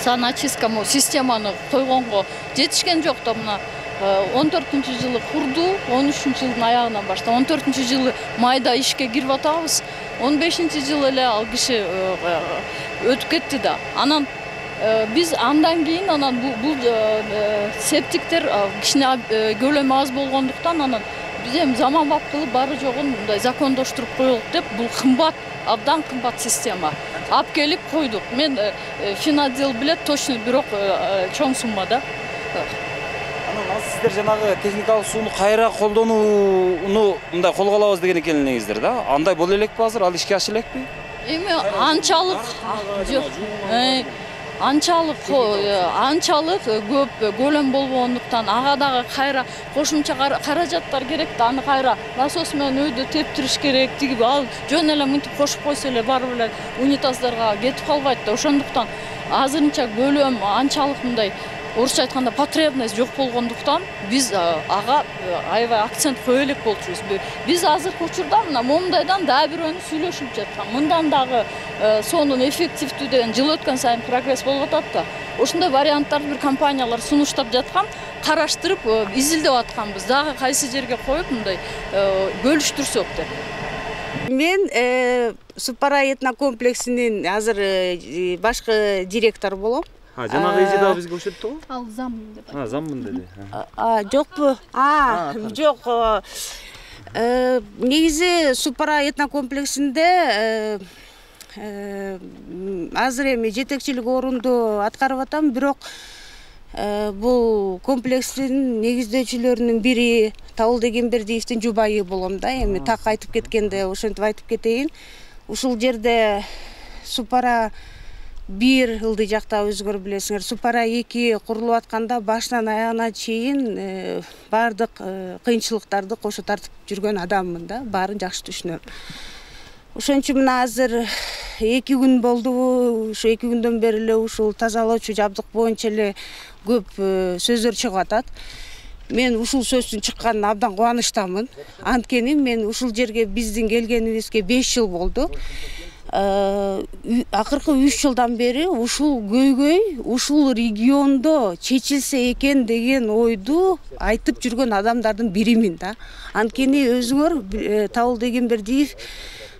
саночистка системаны койгонго жетишкен жок да. Мына 14-жылы курду, 13-жылдын аягынан баштап 14-жылы майда ишке кирип атабыз. 15-жылы эле ал киши өтүп кетти да. Анан биз андан кийин анан бул септиктер кичине көлөмү аз болгондуктан анан биз эми заманбап кылып баары жогун мындай закондоштуруп коелук деп бул кымбат, абдан кымбат система. Алып келип койдук. Мен финотдел билет точно, бирок чоң суммада. Анан сиздер жанагы техникалык сууну кайра колдонууну мындай колго алабыз деген экенсиңиздер да. Андай боло элекпи азыр? Ал ишке аша элекпи? Эми анчалык көп көлөм болбогондуктан ага дагы кайра кошумча каражаттар керек да, аны кайра насос менен өйдө тептириш керек. Тиги ал жөн эле мынтип кошуп койсо эле барып эле унитаздарга кетип калбайт да. Ошондуктан азырынча көлөм анчалык мындай орусча айтканда потребность жок болгондуктан биз ага аябай акцент кое элек болчубуз. Биз азыркы учурда мына момундайдан дагы бирөөнү сүйлөшүп жаткан. Мындан дагы сонун эффективдүү деген жыл өткөн сайын прогресс болуп атат да. Ошондой варианттарды бир компаниялар сунуштап жаткан, караштырып изилдеп атканбыз. Дагы кайсы жерге коюп мындай бөлүштүрсөк деп. Мен Супара этнокомплексинин азыр башкы директор болом. Жанагы эже дагы бизге окшоп го? Ал заммын деп. Заммын деди. Жокпу? Жок. Негизи Супара этнокомплексинде азыр эми жетекчилик орунду аткарып атам, бирок бул комплекстин негиздөөчүлөрүнүн бири Табылдегенбердиевдин жубайы болом да. Эми так айтып кеткенде ошентип айтып кетейин. Ушул жерде Супара 1 ылдый жакта өзүңөр билесиңер, Супара 2 курулуп атканда башынан аягына чейин баардык кыйынчылыктарды кошо тартып жүргөн адаммын да, баарын жакшы түшүнөм. Ошон үчүн мына азыр 2 күн болду, ушу 2 күндөн бери эле ушул тазалоочу жабдык боюнча эле көп сөздөр чыгып атат. Мен ушул сөздүн чыкканына абдан кубанычтамын. Анткени мен ушул жерге биздин келгенибизге 5 жыл болду. Акыркы 3 жылдан бери ушул көйгөй ушул региондо чечилсе экен деген ойду айтып жүргөн адамдардын биримин да. Анткени өзүңөр Табылдегенбердиев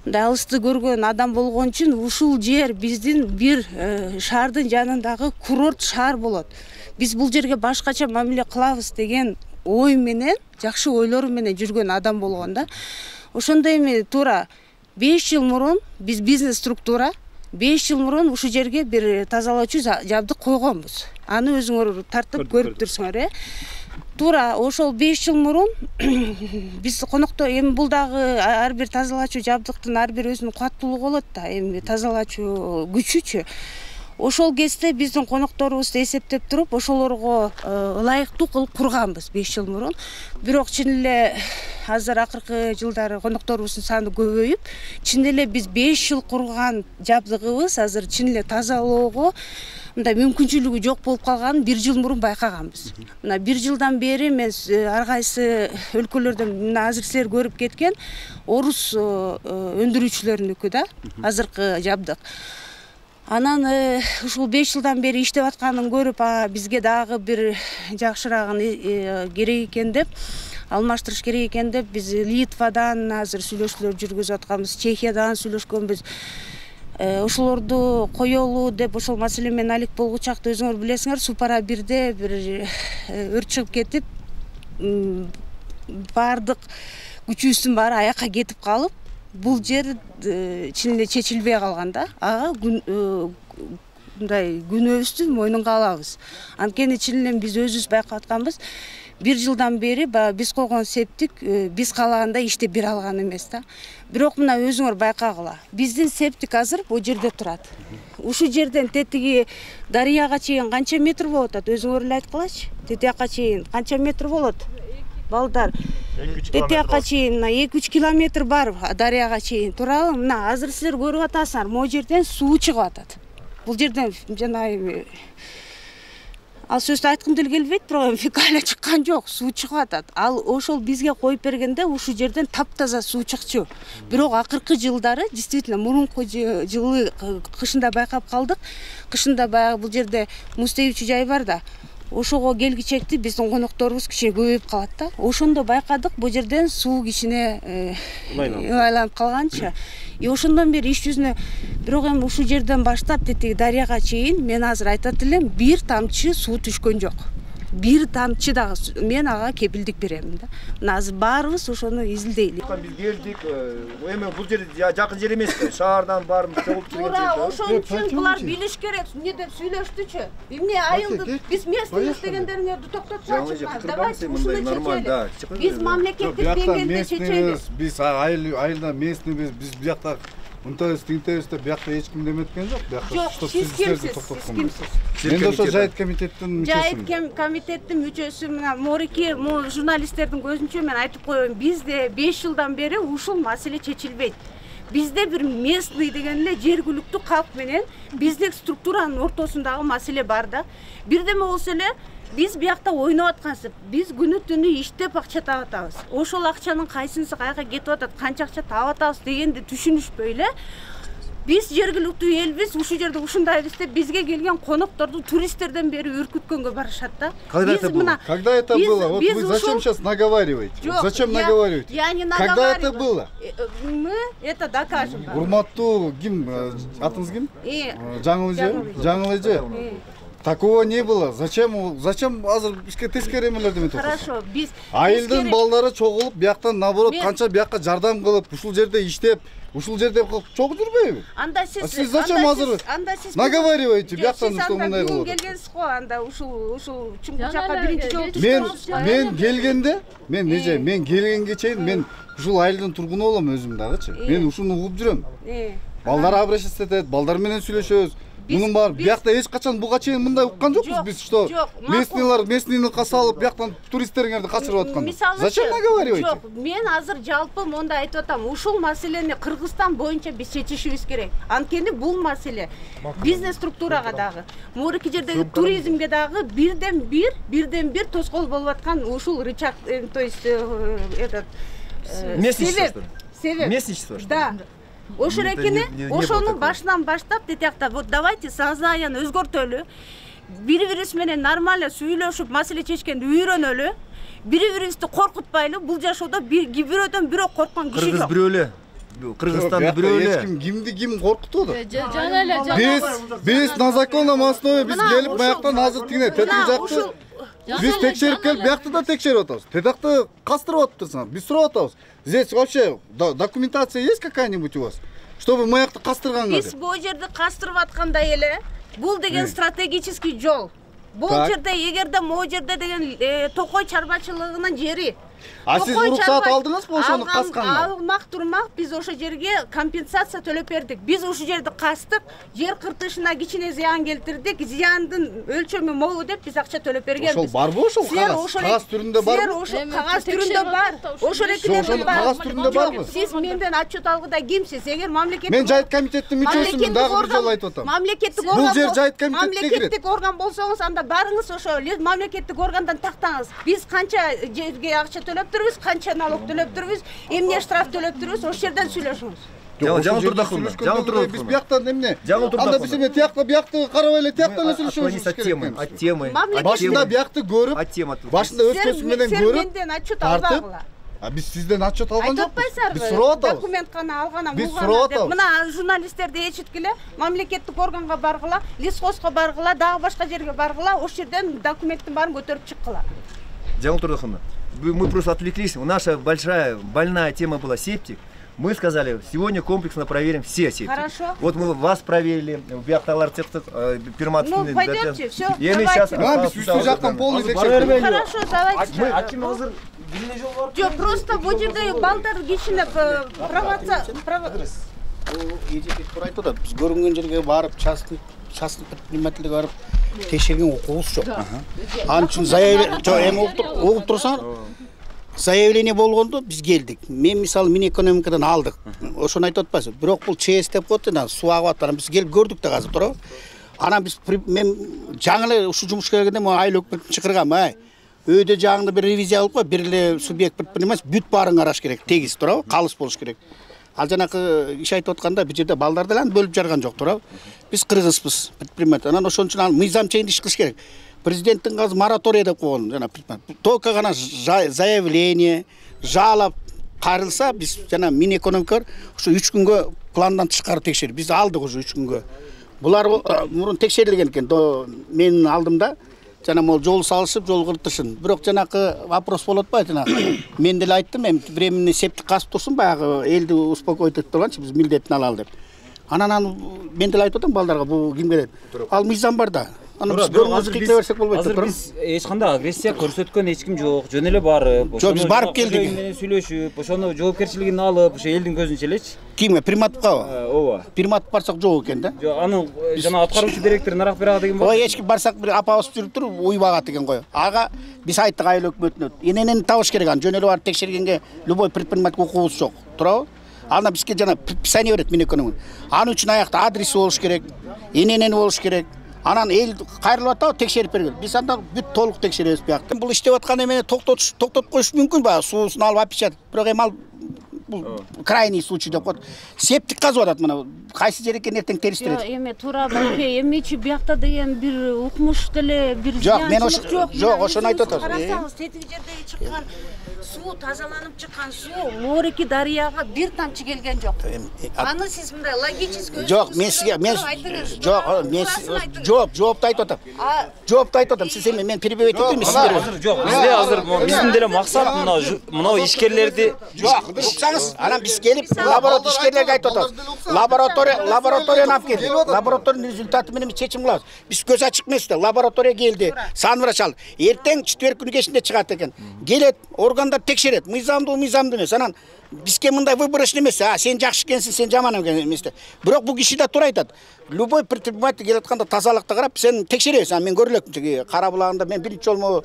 мындай алысты көргөн адам болгон үчүн ушул жер биздин бир шаардын жанындагы курорт шаар болот. Биз бул жерге башкача мамиле кылабыз деген ой менен, жакшы ойлору менен жүргөн адам болгон да. Ошондой эми туура 5 жыл мурун биз бизнес структура 5 жыл мурун ушул жерге бир тазалоочу жабдык койгонбуз. Аны өзүңөр тартып көрүп турсуңар, Туура ошол 5 жыл мурун биз конокто эми бул дагы ар бир тазалоочу жабдыктын ар бир өзүнүн кубаттуулугу болот да, эми тазалоочу күчүчү. Ошол кезде биздин конокторубузду эсептеп туруп, ошолорго ылайыктуу кылып курганбыз 5 жыл мурун. Бирок чын эле азыр акыркы жылдары конокторубуздун саны көбөйүп, чын эле биз 5 жыл курган жабдыгыбыз азыр чын эле тазалоого мындай мүмкүнчүлүгү жок болуп калганын 1 жыл мурун байкаганбыз. Мына 1 жылдан бери мен ар кайсы өлкөлөрдөн мына азыр силер көрүп кеткен орус өндүрүүчүлөрүнүкү да, азыркы жабдык. Анан ушул 5 жылдан бери иштеп атканын көрүп, бизге дагы бир жакшырагын керек экен деп, алмаштырыш керек экен деп, биз Литвадан азыр сүйлөшүүлөр жүргүзүп атканбыз, Чехиядан сүйлөшкөнбүз. Ошолорду коелу деп ошол маселе менен алек болгучакты өзүңөр билесиңер, Супара 1де бир өрт чыгып кетип, баардык күчүбүздүн баары аякка кетип калып, бул жер чын эле чечилбей калган да. Ага мындай күнөөбүздү мойнунга алабыз. Анткени чын эле биз өзүбүз байкап атканбыз, 1 жылдан бери биз койгон септик биз каалагандай иштеп бере алган эмес да. Бирок мына өзүңөр байкагыла. Биздин септик азыр бул жерде турат. Ушул жерден тетиги дарыяга чейин канча метр болот атат? Өзүңөр эле айткылачы. Тетиякка чейин канча метр болот? Балдар. Тетиякка чейин 2-3 километр бар дарыяга чейин, туурабы? Мына азыр силер көрүп атасыңар, могу жерден суу чыгып атат. Бул жерден жанагы ал сөздү айткым деле келбейт, бирок фекалия чыккан жок, суу чыгып атат. Ал ошол бизге коюп бергенде ушул жерден таптаза суу чыкчу. Бирок акыркы жылдары действительно мурунку жылы кышында байкап калдык. Кышында баягы бул жерде муз тебүүчү жай бар да. ошого келгичекти биздин конокторубуз кичине көбөйүп калат да. Ошондо байкадык бул жерден суу кичине айланып калганчы. Ошондон бери иш жүзүнө бирок эми ушул жерден баштап тетиги дарыяга чейин мен азыр айтат элем, бир тамчы суу түшкөн жок. Бир тамчы дагы мен ага кепилдик берем да. Мына азыр баарыбыз ошону изилдейли. Биз келдик, эми бул жер жакын жер эмес да. Шаардан баарыбыз чогулуп келген жер. Туура, ошон үчүн булар билиш керек. Эмне деп сүйлөштүчү. Эмне айылды биз местный дегендериңерди токтотпачы. Давайте ушуну чечели. Биз мамлекеттик деңгээлде чечели. Биз айылда местныйбиз, биз биякта Унтабыз, тинтебиз деп биякта эч ким деметкен жок. Жок, сиз кимсиз? Мен ошо жайыт комитеттин мүчөсүмүн. Жайыт комитеттин мүчөсү, мына морики журналисттердин көзүнчө мен айтып коеюн, бизде 5 жылдан бери ушул маселе чечилбейт. Бизде бир местный деген эле жергиликтүү калк менен биздик структуранын ортосундагы маселе бар да. Бирдеме болсо эле биз биякта ойноп аткансып, биз күнү түнү иштеп акча таап атабыз. Ошол акчанын кайсынысы каяка кетип атат, канча акча таап атабыз дегенди түшүнүшпөй эле биз жергиликтүү элбиз, ушул жерде ушундайбыз деп бизге келген конокторду туристтерден бери үркүткөнгө барышат да. Когда это было? Когда это было? Вот вы зачем сейчас наговариваете? Зачем наговариваете? Я не наговариваю. Когда это было? Мы это докажем. Урматтуу ким? Атыңыз ким? Жаңыл эже. Такого не было. Зачем азыр бизге тескери эмелерди метип атасыз? Хорошо, биз айылдын балдары чогулуп, бияктан наоборот канча биякка жардам кылып, ушул жерде иштеп, ушул жерде чогуу жүрбөйбү? Анда сиз зачем азыр наговариваете бияктан что мындай кылып? Келгенсиз го, анда ушул чуңкучакка биринчи жолу түшкөнсүз. Мен келгенде, мен келгенге чейин мен ушул айылдын тургуну болом өзүм дагычы. Мен ушуну угуп жүрөм. Балдар обращаться этет, балдар менен сүйлөшөбүз. Мунун бар, биякта эч качан буга чейин мындай уккан жокпуз биз, что местныйлар салып бияктан туристтериңерди качырып аткан. Зачем наговариваете? Жок, мен азыр жалпы монда айтып атам, ушул маселени Кыргызстан боюнча биз чечишибиз керек. Анткени бул маселе бизнес структурага дагы, мурики жердеги туризмге дагы бирден бир тоскоол болуп аткан ушул рычаг, то есть этот местничество. Да. Ошол экени, ошонун башынан баштап детиякта, вот давайте сознанияны өзгөртөлү. Бири-бирибиз менен нормально сүйлөшүп, маселе чечкенди үйрөнөлү. Бири-бирибизди коркутпайлы. Бул жашоодо бирөөдөн бирөө корккон киши жок. Кыргыз бирөө эле. Кыргызстанда бирөө эле. Кимди ким коркутуп атат? Биз на законном основе биз келип бияктан азыр тигине тетиги жакты. Биз текшерип келип биякты да текшерип атабыз. Тетакты кастырып атыпсыңар. Биз сурап атабыз. Здесь вообще документация есть какая-нибудь у вас? Чтобы маякты кастырганга? Биз бул жерди кастырып аткандай эле. Бул деген стратегический жол. Бул жерде эгерде могу жерде деген токой чарбачылыгынын жери. А сиз уруксаат алдыңызбы ошону касканга? Алмак турмак биз ошо жерге компенсация төлөп бердик. Биз ушул жерди кастык, жер кыртышына кичине зыян келтирдик. Зыяндын өлчөмү могу деп биз акча төлөп бергенбиз. Ошол барбы ошол кагаз? Кагаз түрүндө барбы? Силер ошол кагаз түрүндө бар. Ошол экинен кагаз түрүндө барбы? Сиз менден отчет алгыда кимсиз? Эгер мамлекеттик Мен жайыт комитеттин мүчөсүмүн, дагы бир жолу айтып атам. Мамлекеттик орган. Бул жер жайыт комитетке кирет. Мамлекеттик орган болсоңуз анда барыңыз ошо мамлекеттик органдан тактаңыз. Биз канча жерге акча төлөп турбуз, канча налог төлөп турбуз, эмне штраф төлөп турбуз, ошол жерден сүйлөшүңүз. Жаңыл турдакуловна, Жаңыл турдакуловна. Биз бияктан эмне? Жаңыл турдакуловна. Анда биз эме тиякта биякты карабай эле тияктан эле сүйлөшөбүз керек. От темы. Башында биякты көрүп, башында өз көзү менен көрүп, менден отчет албагыла. Биз сизден отчет алган жокпуз. Айтпайсызбы? Биз сурап атабыз. Документ гана алган, биз сурап атабыз. Мына журналисттерди эчиткиле, мамлекеттик органга баргыла, лесхозго баргыла, дагы башка жерге баргыла, ошол жерден документтин баарын көтөрүп чыккыла. Жаңыл турдакуловна, мы просто отвлеклись. Наша большая больная тема была септик. Мы сказали, сегодня комплексно проверим все септики. Хорошо. Вот мы вас проверили, биакталар перматывный. Ну, пойдемте, все, давайте. Хорошо, давайте. А ким азыр эмне жол бар? Жок, просто бул жерде балдар кичине провоция. Эжекет тура айтып атат. Биз көрүнгөн жерге барып, частный предпринимательге барып текшерген укугубуз жок. Анын үчүн заявление угуп турсаңар, заявление болгондо биз келдик. Мен мисалы Минэкономикадан алдык. Ошону айтып атпайсызбы? Бирок бул ЧС деп коет да, суу агып атат. Биз келип көрдүк да азыр туурабы? Анан биз мен жаңы эле ушул жумушка келгенде мен айыл өкмөтүн чакыргам. Өйдө жаңында бир ревизия алып кой, бир эле субъект предприниматель бүт баарын караш керек, тегиз туурабы? Калыс болуш керек. Ал жанакы иш айтып атканда бул жерде балдарды эле бөлүп жарган жок туурабы? Биз кыргызбыз, предприниматель. Анан ошон үчүн ал мыйзам чейин иш кылыш керек. президенттин азыр мораторий деп койгон жана только гана заявление жалоб кайрылса биз жана Минэкономикалар ушу 3 күнгө пландан тышкары текшерип биз алдык уже 3 күнгө. Булар мурун текшерилген экен. Менин алдымда жана могу жол салышып, жол кыртышын. Бирок жанакы вопрос болот атпайбы жанагы. Мен деле айттым, эми временный септик касып турсун, баягы элди успокоить этип турганчы биз милдетин алалы деп. Анан мен деле айтып атам балдарга, бул кимге деп. Ал мыйзам бар да. Аны биз көрүңүз кыйкыла берсек болбойт деп турам. Азыр биз эч кандай агрессия көрсөткөн эч ким жок. Жөн эле барып, жок, биз барып келдик. Менен сүйлөшүп, ошону жоопкерчилигин алып, ошо элдин көзүнчө элечи. Кимге? Приматовкабы? Ооба. Приматов барсак жок экен да. Жок, аны жана аткаруучу директор нарак берага деген болду. Ой, эч ким барсак бир апабыз жүрүп туруп уйбагат экен го. Ага биз айттык айыл өкмөтүнө. Эненени табыш керек, аны жөн эле барып текшергенге любой предприниматель укугубуз жок. Туурабы? Аны бизге жана предписание берет Минэкономикалар. Аны үчүн аякта адреси болуш керек, эненени болуш керек. Анан эл кайрылып атабы текшерип бергил. Биз андан бүт толук текшеребиз биякта. Бул иштеп аткан эмени токтотуп коюш мүмкүн баягы суусун алып апишат. Бирок эми ал бул крайний случай деп коет. Септик казып атат мына. Кайсы жер экен эртең териштирет. Жок, эми туура билбей, эмичи биякта деген бир укмуш деле бир жок, мен жок, ошону айтып атам. Карасаңыз, тетиги жердеги чыккан суу тазаланып чыккан суу Мореки дарыяга бир тамчы келген жок. Аны сиз мындай логически жок, мен сизге жоопту айтып атам. Жоопту айтып атам. Сиз эми мен перебивать этпейм сиздерге. Азыр жок, бизде азыр биздин деле максат мына ишкерлерди уксаңыз, анан биз келип лаборатория ишкерлерге айтып атабыз. Лабораторияны алып келди. Лабораториянын результаты менен чечим кылабыз. Биз көз ачык эмес да. Лаборатория келди. Санврач ал. Эртең четверг күнү кечинде чыгат экен. Келет, органдар текшерет. Мыйзамдуу эмес. Анан бизге мындай выборочный эмес. Сен жакшы экенсиң, сен жаман экенсиң эмес да. Бирок бул киши да туура айтат. Любой предприниматель келип атканда тазалыкты карап, сен текшеребиз. Мен көрүлөк Кара булагында мен биринчи жолу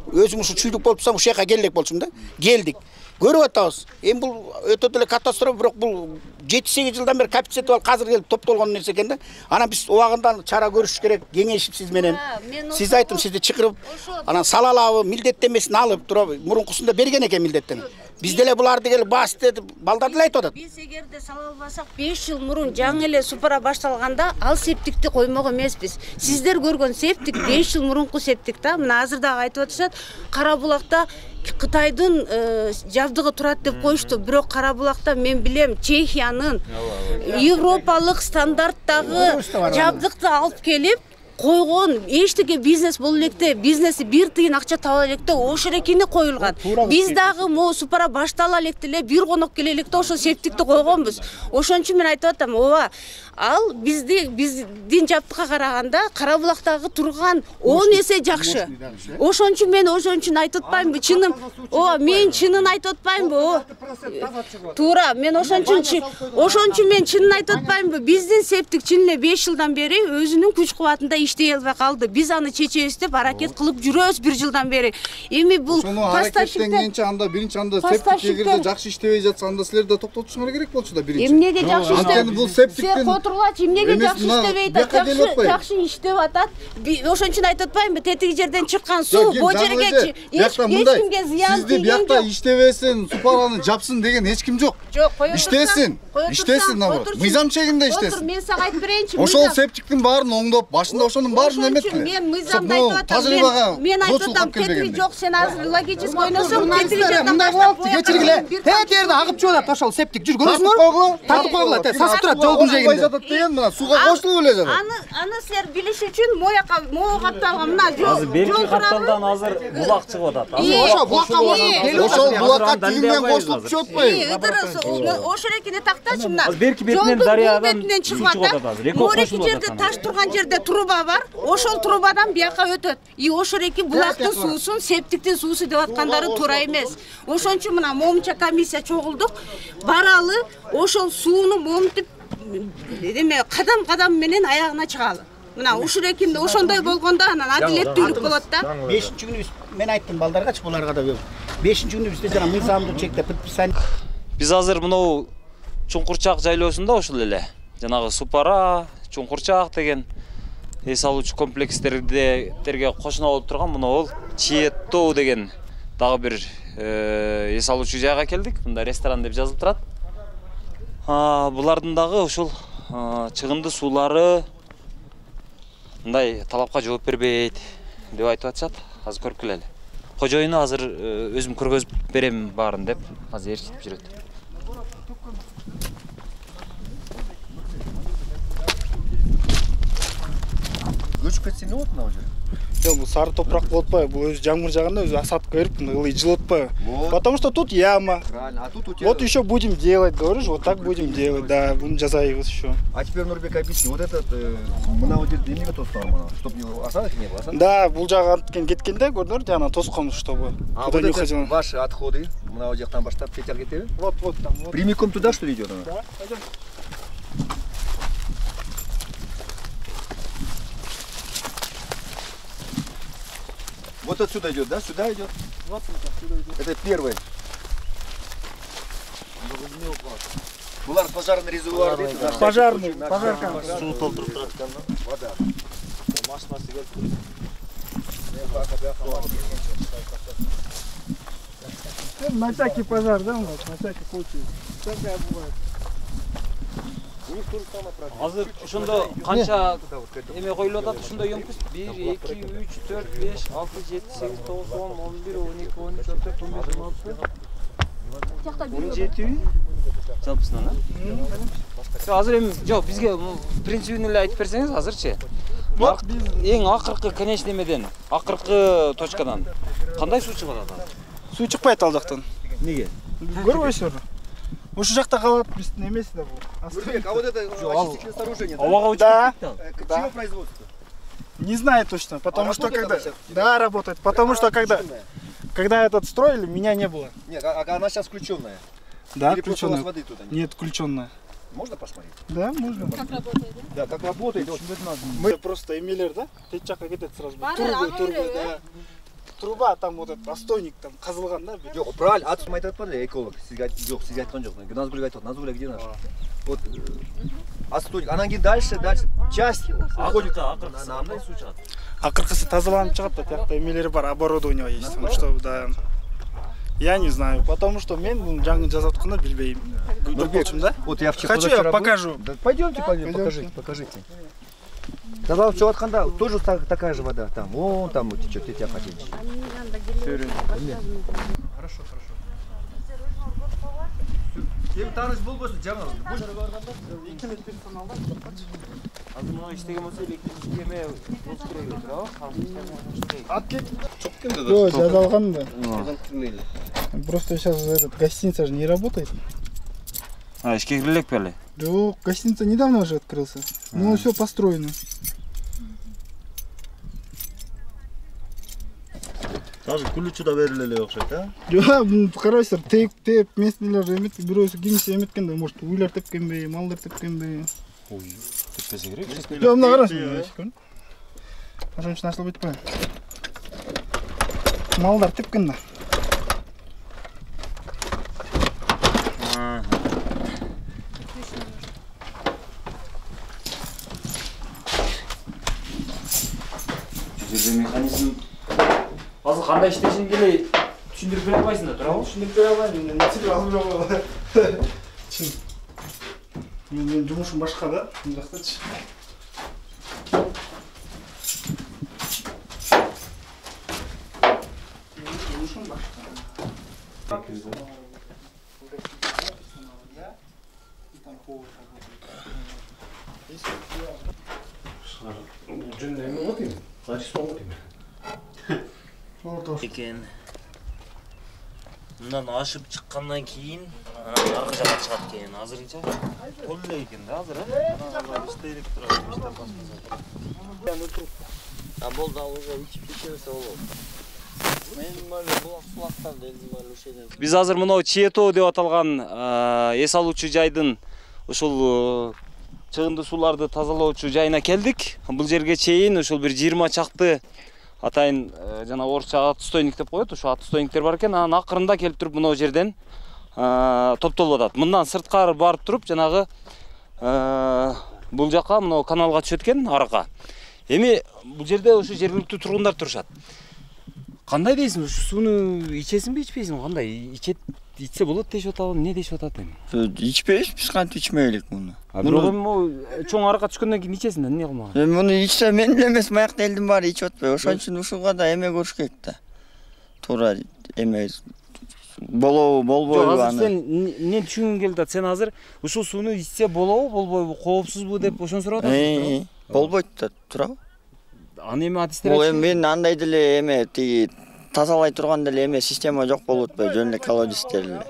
өзүм ушу чүйдүк болупсам, ушул жака келдик болчумун да. Келдик. Көрүп атабыз. Эми бул өтө деле катастрофа, бирок бул 7-8 жылдан бери коэффициент ал азыр келип топтолгон нерсе экен да. Анан биз убагында чара көрүш керек, кеңешип сиз менен. Сиз айттым, сизди чакырып, анан сала алабы, милдеттенмесин алып туруп, мурункусунда берген экен милдеттен. Биз деле буларды келип басты деп балдар деле айтып атат. Биз эгерде сала албасак 5 жыл мурун жаңы эле супара башталганда ал септикти коймок эмеспиз. Сиздер көргөн септик 5 жыл мурунку септик да. Мына азыр дагы айтып атышат, Кара булакта Кытайдын жабдыгы турат деп коюшту. Бирок Кара булакта мен билем Чехиянын европалык стандарттагы жабдыкты алып келип койгон, эчтеке бизнес боло электе, бизнеси бир тыйын акча таба электе ошол экени коюлган. Биз дагы могу супара баштала электе эле бир конок келе электе ошол септикти койгонбуз. Ошон үчүн мен айтып атам, ооба, ал биздин жабдыкка караганда Кара булактагы турган 10 эсе жакшы. Ошон үчүн айтып атпаймынбы, чыным, ооба, мен чынын айтып атпаймынбы? Туура, мен ошон үчүн мен чынын айтып атпаймынбы? Биздин септик чын эле 5 жылдан бери өзүнүн күч кубатында иштей албай калды. Биз аны чечебиз деп аракет кылып жүрөбүз 1 жылдан бери. Эми бул поставщиктен анда биринчи анда септик эгерде жакшы иштебей жатса, анда силер да токтотушуңар керек болчу да биринчи. Эмнеге жакшы иштеп? Бул септиктен Котурлачы эмнеге жакшы иштебейт? Жакшы иштеп атат. Ошон үчүн айтып атпаймынбы? Тетиги жерден чыккан суу бу жерге эч кимге зыян тийген жок. Сизди биякта иштебесин, супараны жапсын деген эч ким жок. Жок, кое иштесин. Иштесин, наоборот. Мыйзам чегинде иштесин. Мен сага айтып берейинчи. Ошол септиктин баарын оңдоп, башында ошонун баарын эметпи? Мен мыйзамды айтып атам. Мен айтып атам, тетиги жок, сен азыр логически ойносоң, тетиги жерден баштап кечиргиле. Жерде агып чыгып атат, ошол септик жүр көрүңүзбү? Тартып койгула, сасып турат жолдун жээгинде. Жатат деген мына сууга кошулуп эле жатат. Аны силер билиш үчүн могу капталган мына жол белки капталдан азыр булак чыгып атат. Ошол булакка тигинден кошулуп чыгып атпайбы? Ошол экени тактачы мына. Берки бетинен дарыядан чыгып атат. Мореки жерде таш турган жерде труба бар. Ошол трубадан бияка өтөт. И ошол эки булактын суусун септиктин суусу деп аткандары туура эмес. Ошон үчүн мына момунча комиссия чогулдук. Баралы ошол сууну момунтип эме кадам менен аягына чыгалы. Мына ушул экинде ошондой болгондо анан адилеттүүлүк болот да. 5-күнү мен айттым балдаргачы, буларга да 5-күнү бизде жана мыйзамдуу чекте предписание. Биз азыр мынау Чуңкурчак жайлоосунда ушул эле жанагы Супара, Чуңкурчак деген эс алуучу комплекстерге кошуна болуп турган мынау Чиеттоо деген дагы бир эс алуучу жайга келдик. Мында ресторан деп жазылып турат. Булардын дагы ушул чыгынды суулары мындай талапка жооп бербейт. деп айтып атышат. Азыр көрүп келели. Кожоюну азыр өзүм көргөзүп берем баарын деп азыр ээрчитип жүрөт. Көчүп кетсе эмне болот мына жер? Жок, бул сары топурак болуп атпайбы? Бул өзү жамгыр жааганда өзү осадка берип, ылый жылып атпайбы? Потому что тут яма. Правильно. А тут у тебя... Вот еще будем делать, говоришь, вот так будем делать, да, будем жазайбыз еще. А теперь, Нурбек, объясни, вот этот, мына вот жерде эмнеге тоскан мына, чтобы осадок не было, Да, бул жагы анткен кеткенде, көрдүңөр, жана тоскон, чтобы. А вот это ваши отходы, мына жактан баштап кетер кетеби? Вот там. Вот. Прямиком туда, что ли, идет она? Да, пойдем. Вот отсюда идет, да? Сюда идет? Вот сюда идет. Это первый. Булар пожарный резервуар дейт. Пожарный, пожарка. Суу толтуруп турат экен, вода. Машинасы келип туруп. На всякий пожар, да, у нас, на всякий случай. Всякое бывает. Азыр ошондо канча эме коюлуп атат, ошондо емкость 1, 2, 3, 4, 5, 6, 7, 8, 9, 10, 11, 12, 13, 14, 15, 16. 17 жалпысынан, а? Азыр эми жок, бизге принцибин эле айтып берсеңиз азырчы. Эң акыркы конечный эмеден, акыркы точкадан кандай суу чыгып атат? Суу чыкпайт ал жактан. Неге? Көрбөйсүңөр. Ушул жакта калат, биздин эмеси да бул. Нурбек, а вот это очистительное сооружение, да? Чье производство? Не знаю точно, потому что когда... Да, работает, потому что когда этот строили, меня не было. Нет, а она сейчас включенная? Да, или включенная. просто у вас воды туда нет? Нет, включенная. Можно посмотреть? Да, можно. Как работает, да? Да, как работает. Мы просто эмилер, да? Тет жакка кетет сразу. Турбы, да. Труба, там вот этот отстойник там казылган, да? Жок, правильно. Атысым айтып атпады, эколог. Жок, сизге айткан жок. Назгуль айтып, Назгуль где наш? Вот отстойник. Анан кийин дальше часть уходит. Кандай суу чыгат? Акыркысы тазаланып чыгат да, тиякта эмелери бар, оборудование есть. Чтобы да. Я не знаю, потому что мен бул жаңы жазып атканда билбейм. Да? Вот я Хочу, я покажу. Пойдемте, покажите. Тазалап чыгып атканда тоже такая же вода. Там, вон там течет, я хотел. Хорошо. Кем тааныш болбосун, жаңы. Экинчи персоналда Азыр мына иштеген болсо электрический эме болуш керек эле, туурабы? Аткет. Жок, жазалган да. Просто сейчас этот гостиница же не работает. А, ишке кире элекпи эле? Жок, гостиница недавно же открылся. Ну, все построено. Даже ключу да бериле эле окшойт, а? Жок, карайсыздар, теп местнелер эмет, бирөөсү кимиси эметкенде, может, уйлар тепкенби, малдар тепкенби. Ой, теппесе керек. Жок, мына карасын. Ошон үчүн ачылып кетпейби? Малдар тепкен да. Жерде механизм азыр кандай иштешин эле түшүндүрүп бере албайсың да, туурабы? Түшүндүрүп бере албайм, мен албайм. Чын. Менин жумушум башка да, мына жактачы. Жумушум башка. Жөнүндө эме болот эми. Качыс болот эми. Экен. Мындан ашып чыккандан кийин аркы жакка чыгат экен. Азырынча кол эле экен да азыр, а? Иштелип турат, иштеп баштаса. А болду, уже ичип кете болот. Мен мына булактан делдим ушеден. Биз азыр мына Чиетоо деп аталган эс алуучу жайдын ушул чыгынды сууларды тазалоочу жайына келдик. Бул жерге чейин ушул бир 20 чакты атайын жана орусча отстойник деп коет, ошо отстойниктер бар экен. Анан акырында келип туруп мына жерден топтолуп атат. Мындан сырткары барып туруп жанагы бул жакка мына каналга түшөт экен, аракка. Эми бул жерде ошо жергиликтүү тургундар турушат. Кандай дейсиң? Ушу сууну ичесиңби, ичпейсиңби? Кандай? Ичсе болот дешип атабы, эмне дешип атат эми? Ичпейбиз, биз кантип ичмейлик муну. Бирок эми могу чоң аракка түшкөндөн кийин ичесиң да, эмне кылмаган? Эми муну ичсе мен эле эмес, маякта элдин баары ичип атпайбы? Ошон үчүн ушуга да эме көрүш керек да. Туура эме болобу, болбойбу аны. Азыр сен эмне түшүнгүң келип атат? Сен азыр ушул сууну ичсе болобу, болбойбу, коопсузбу деп ошону сурап атасың. Болбойт да, туурабы? Аны эми адистер Бул эми мен андай деле эме тиги тазалай турган деле эме система жок болуп атпайбы, жөн эле колодецтер эле.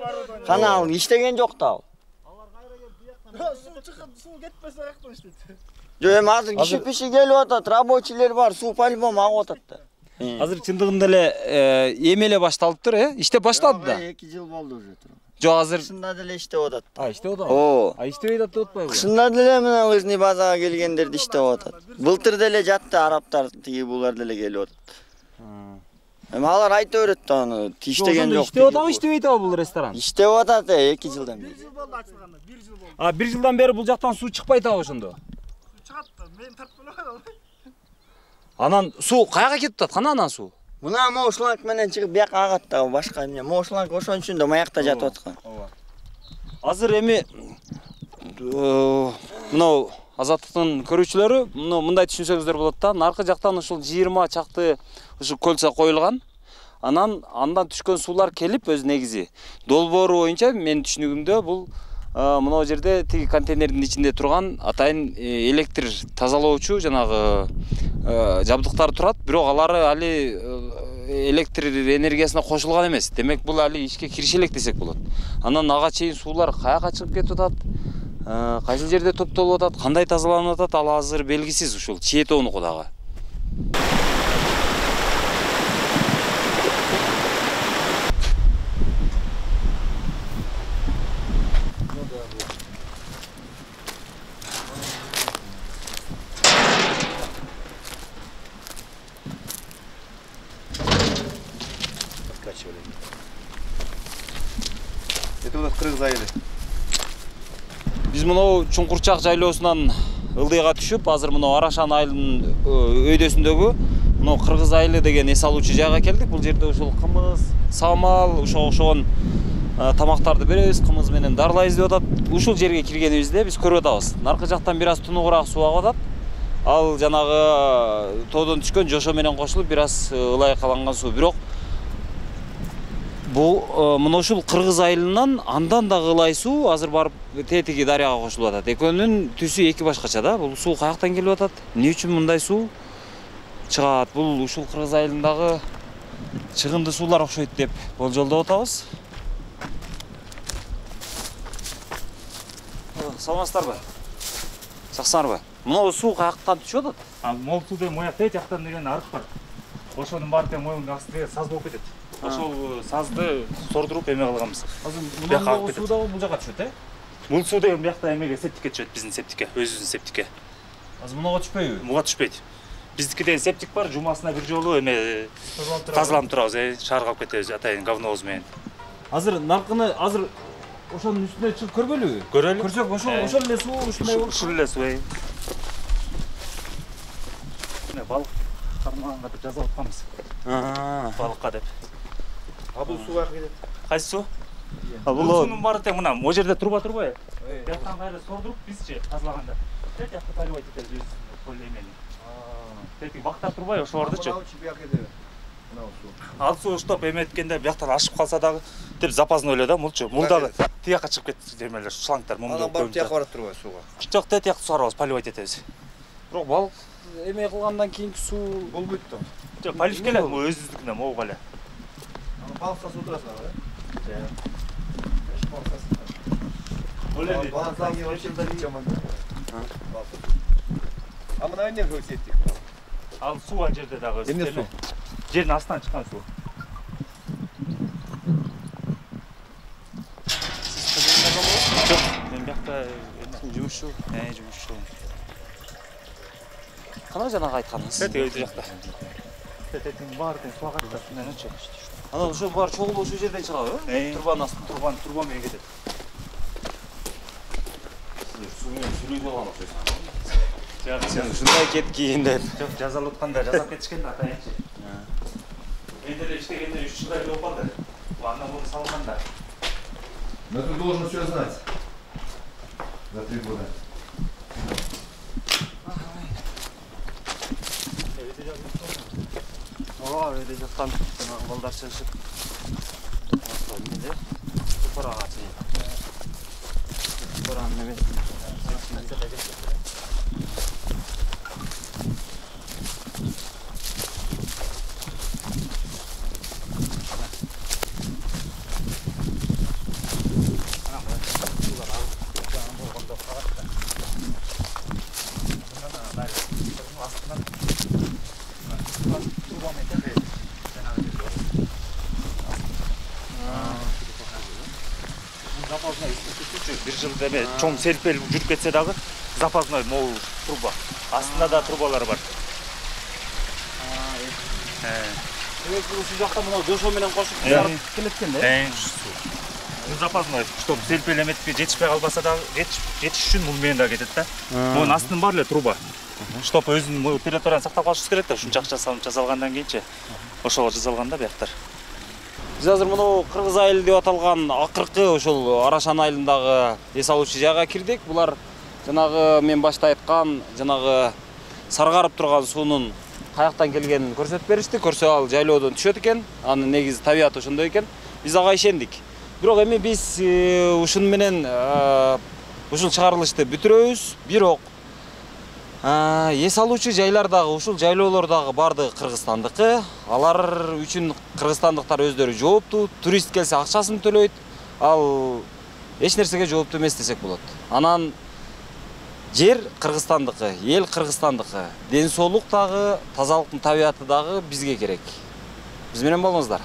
Кана ал иштеген жок да ал. Суу кетпесе каяктан иштейт? Жок, эми азыр киши келип атат, рабочийлер бар, суу по-любому агып атат да. Азыр чындыгында эле эми эле башталыптыр, иштеп баштады да. 2 жыл болду уже. Жок, азыр кышында деле иштеп атат. Иштеп атабы? Иштебей атат деп атпайбы? Кышында деле мына лыжный базага келгендерди иштеп атат. Былтыр деле жатты, арабтар тиги булар деле келип атат. Эми алар айта берет да аны иштеген жок. Иштеп атабы, иштебей атабы бул ресторан? Иштеп атат, 2 жылдан бери. 1 жыл болду ачылганда, 1 жыл болду. 1 жылдан бери бул жактан суу чыкпай атабы ошондо? Чыгат да, мен тартып элем. Анан суу каяка кетип атат? Кана анан суу? Мына могу шланг менен чыгып бияка агат да, башка эмне. Могу шланг ошон үчүн да маякта жатып аткан. Азыр эми мынау Азаттыктын көрүүчүлөрү мындай түшүнсөңүздөр болот да. Наркы жактан ушул 20 чакты ушу кольцо коюлган. Андан түшкөн суулар келип өз негизи долбоору боюнча менин түшүнүгүмдө бул мынау жерде тиги контейнердин ичинде турган атайын электр тазалоочу жанагы жабдыктар турат, бирок алары али электр энергиясына кошулган эмес. Демек бул али ишке кириши элек десек болот. Анан ага чейин суулар каяка чыгып кетип атат? Кайсы жерде топтолуп атат? Кандай тазаланып атат? Ал азыр белгисиз, ушул Чиетоонуку дагы. Это у нас Кыргыз айылы. Биз мынау Чуңкурчак жайлоосунан ылдыйга түшүп, азыр мынау Арашан айылынын өйдөсүндөгү мынау Кыргыз айылы деген эс алуучу жайга келдик. Бул жерде ушул кымыз, самал, ошого окшогон тамактарды беребиз, кымыз менен дарылайбыз деп атат. Ушул жерге киргенибизде биз көрүп атабыз. Наркы жактан бир аз тунугураак суу агып атат. Ал жанагы тоодон түшкөн жошо менен кошулуп бир аз ылайыкаланган суу. Бирок бул мына ушул Кыргыз айылынан андан да ылай суу азыр барып тетиги дарыяга кошулуп атат. Экөөнүн түсү эки башкача да. Бул суу каяктан келип атат? Эмне үчүн мындай суу чыгат? Бул ушул Кыргыз айылындагы чыгынды суулар окшойт деп болжолдоп атабыз. Саламатсыздарбы? Жакшысыңарбы? Мына суу каяктан түшүп атат? Мол суу деген моя тет жактан деген арык бар. Ошонун баары тең моюнун астында саз болуп кетет. Ошол сазды сордуруп эме кылганбыз. Азыр мына суу дагы бул жака түшөт, Бул суу деген биякта эмеге септикке түшөт, биздин септикке, өзүбүздүн септикке. Азыр мунага түшпөйбү? Буга түшпөйт. Биздики деген септик бар, жумасына бир жолу эме тазаланып турабыз, шаарга алып кетебиз атайын говнобуз менен. Азыр наркыны азыр ошонун үстүнө чыгып көргөлүбү? Көрөлү. Көрсөк ошол эле суу ушундай болуп. Ушул эле суу. Мына балык кармаганга деп жазып атканбыз. Балыкка деп. Бул суу каяка кетет? Кайсы суу? Бул суунун баары тең мына могу жерде труба турбайбы? Жактан кайра сордуруп бизчи тазалаганда. Тет жакты поливать этебиз өзүбүз полемени. Тетиги бактар турбайбы ошолордучу? Ал суу уштап эметкенде бияктан ашып калса дагы деп запасный эле да мулчу. Мул дагы тияка чыгып кетти жемелер, шлангдар мумду. Анан барып тияка барат турбайбы сууга? Жок, тет жакты суарабыз, поливать этебиз. Бирок балык эме кылгандан кийинки суу болбойт да. Жок, поливка эле өзүбүздүкүнөн могу эле. Балыкка суу турасыңар, А мына эмне көп сеттик? Ал суу ан жерде дагы эмне суу? Жердин астынан чыккан суу. Жок, мен бияқта жумушчу. Жумушчу. Кана жанагы айтканыңыз? Өтө жакта. Тетиң баары тең суу агат да, шунданчы. Анан ошо баары чогулуп ошол жерден чыгабы? Турбанын астынан, турба менен кетет. Суу менен сүйлөйт алган окшойсуң. Сен ушундай кеткин деп. Жок, жазалып атканда жазап кетишкен да атайынчы. Менде де иштегенде 3 жылдай болуп калды. Андан муну салганда. Но ты должен все знать. За 3 года. Öyle жаткан жанагы балдар чыгышып. Эмне? Супарага чейин. Супаранын немесин. Bir жыл деме чоң селпел жүрүп кетсе дагы запасной могул труба. Астында да трубалар бар. Бул жакта мына жошо менен кошуп чыгарып келеткен да. Бул запасной, чтоб селпел эметипке жетишпей калбаса дагы жетиш үчүн мун менен да кетет да. Мунун астын бар эле труба. Чтоб өзүнүн территорияны сактап калышыбыз керек да. Ушунча акча салып жасалгандан кийинчи ошого жасалган да бияктар. Биз азыр мына Кыргыз айыл деп аталган акыркы ошол Арашан айылындагы эс алуучу жайга кирдик. Булар жанагы мен башта айткан жанагы саргарып турган суунун каяктан келгенин көрсөтүп беришти. Көрсө ал жайлоодон түшөт экен. Анын негизи табияты ошондой экен. Биз ага ишендик. Бирок эми биз ушун менен ушул чыгарылышты бүтүрөбүз. Бирок эс алуучу жайлар дагы ушул жайлоолор дагы бардыгы Кыргызстандыкы. Алар үчүн кыргызстандыктар өздөрү жооптуу. Турист келсе акчасын төлөйт. Ал эч нерсеге жооптуу эмес десек болот. Анан жер Кыргызстандыкы, эл Кыргызстандыкы. Ден соолук дагы, тазалыктын табияты дагы бизге керек. Биз менен болуңуздар.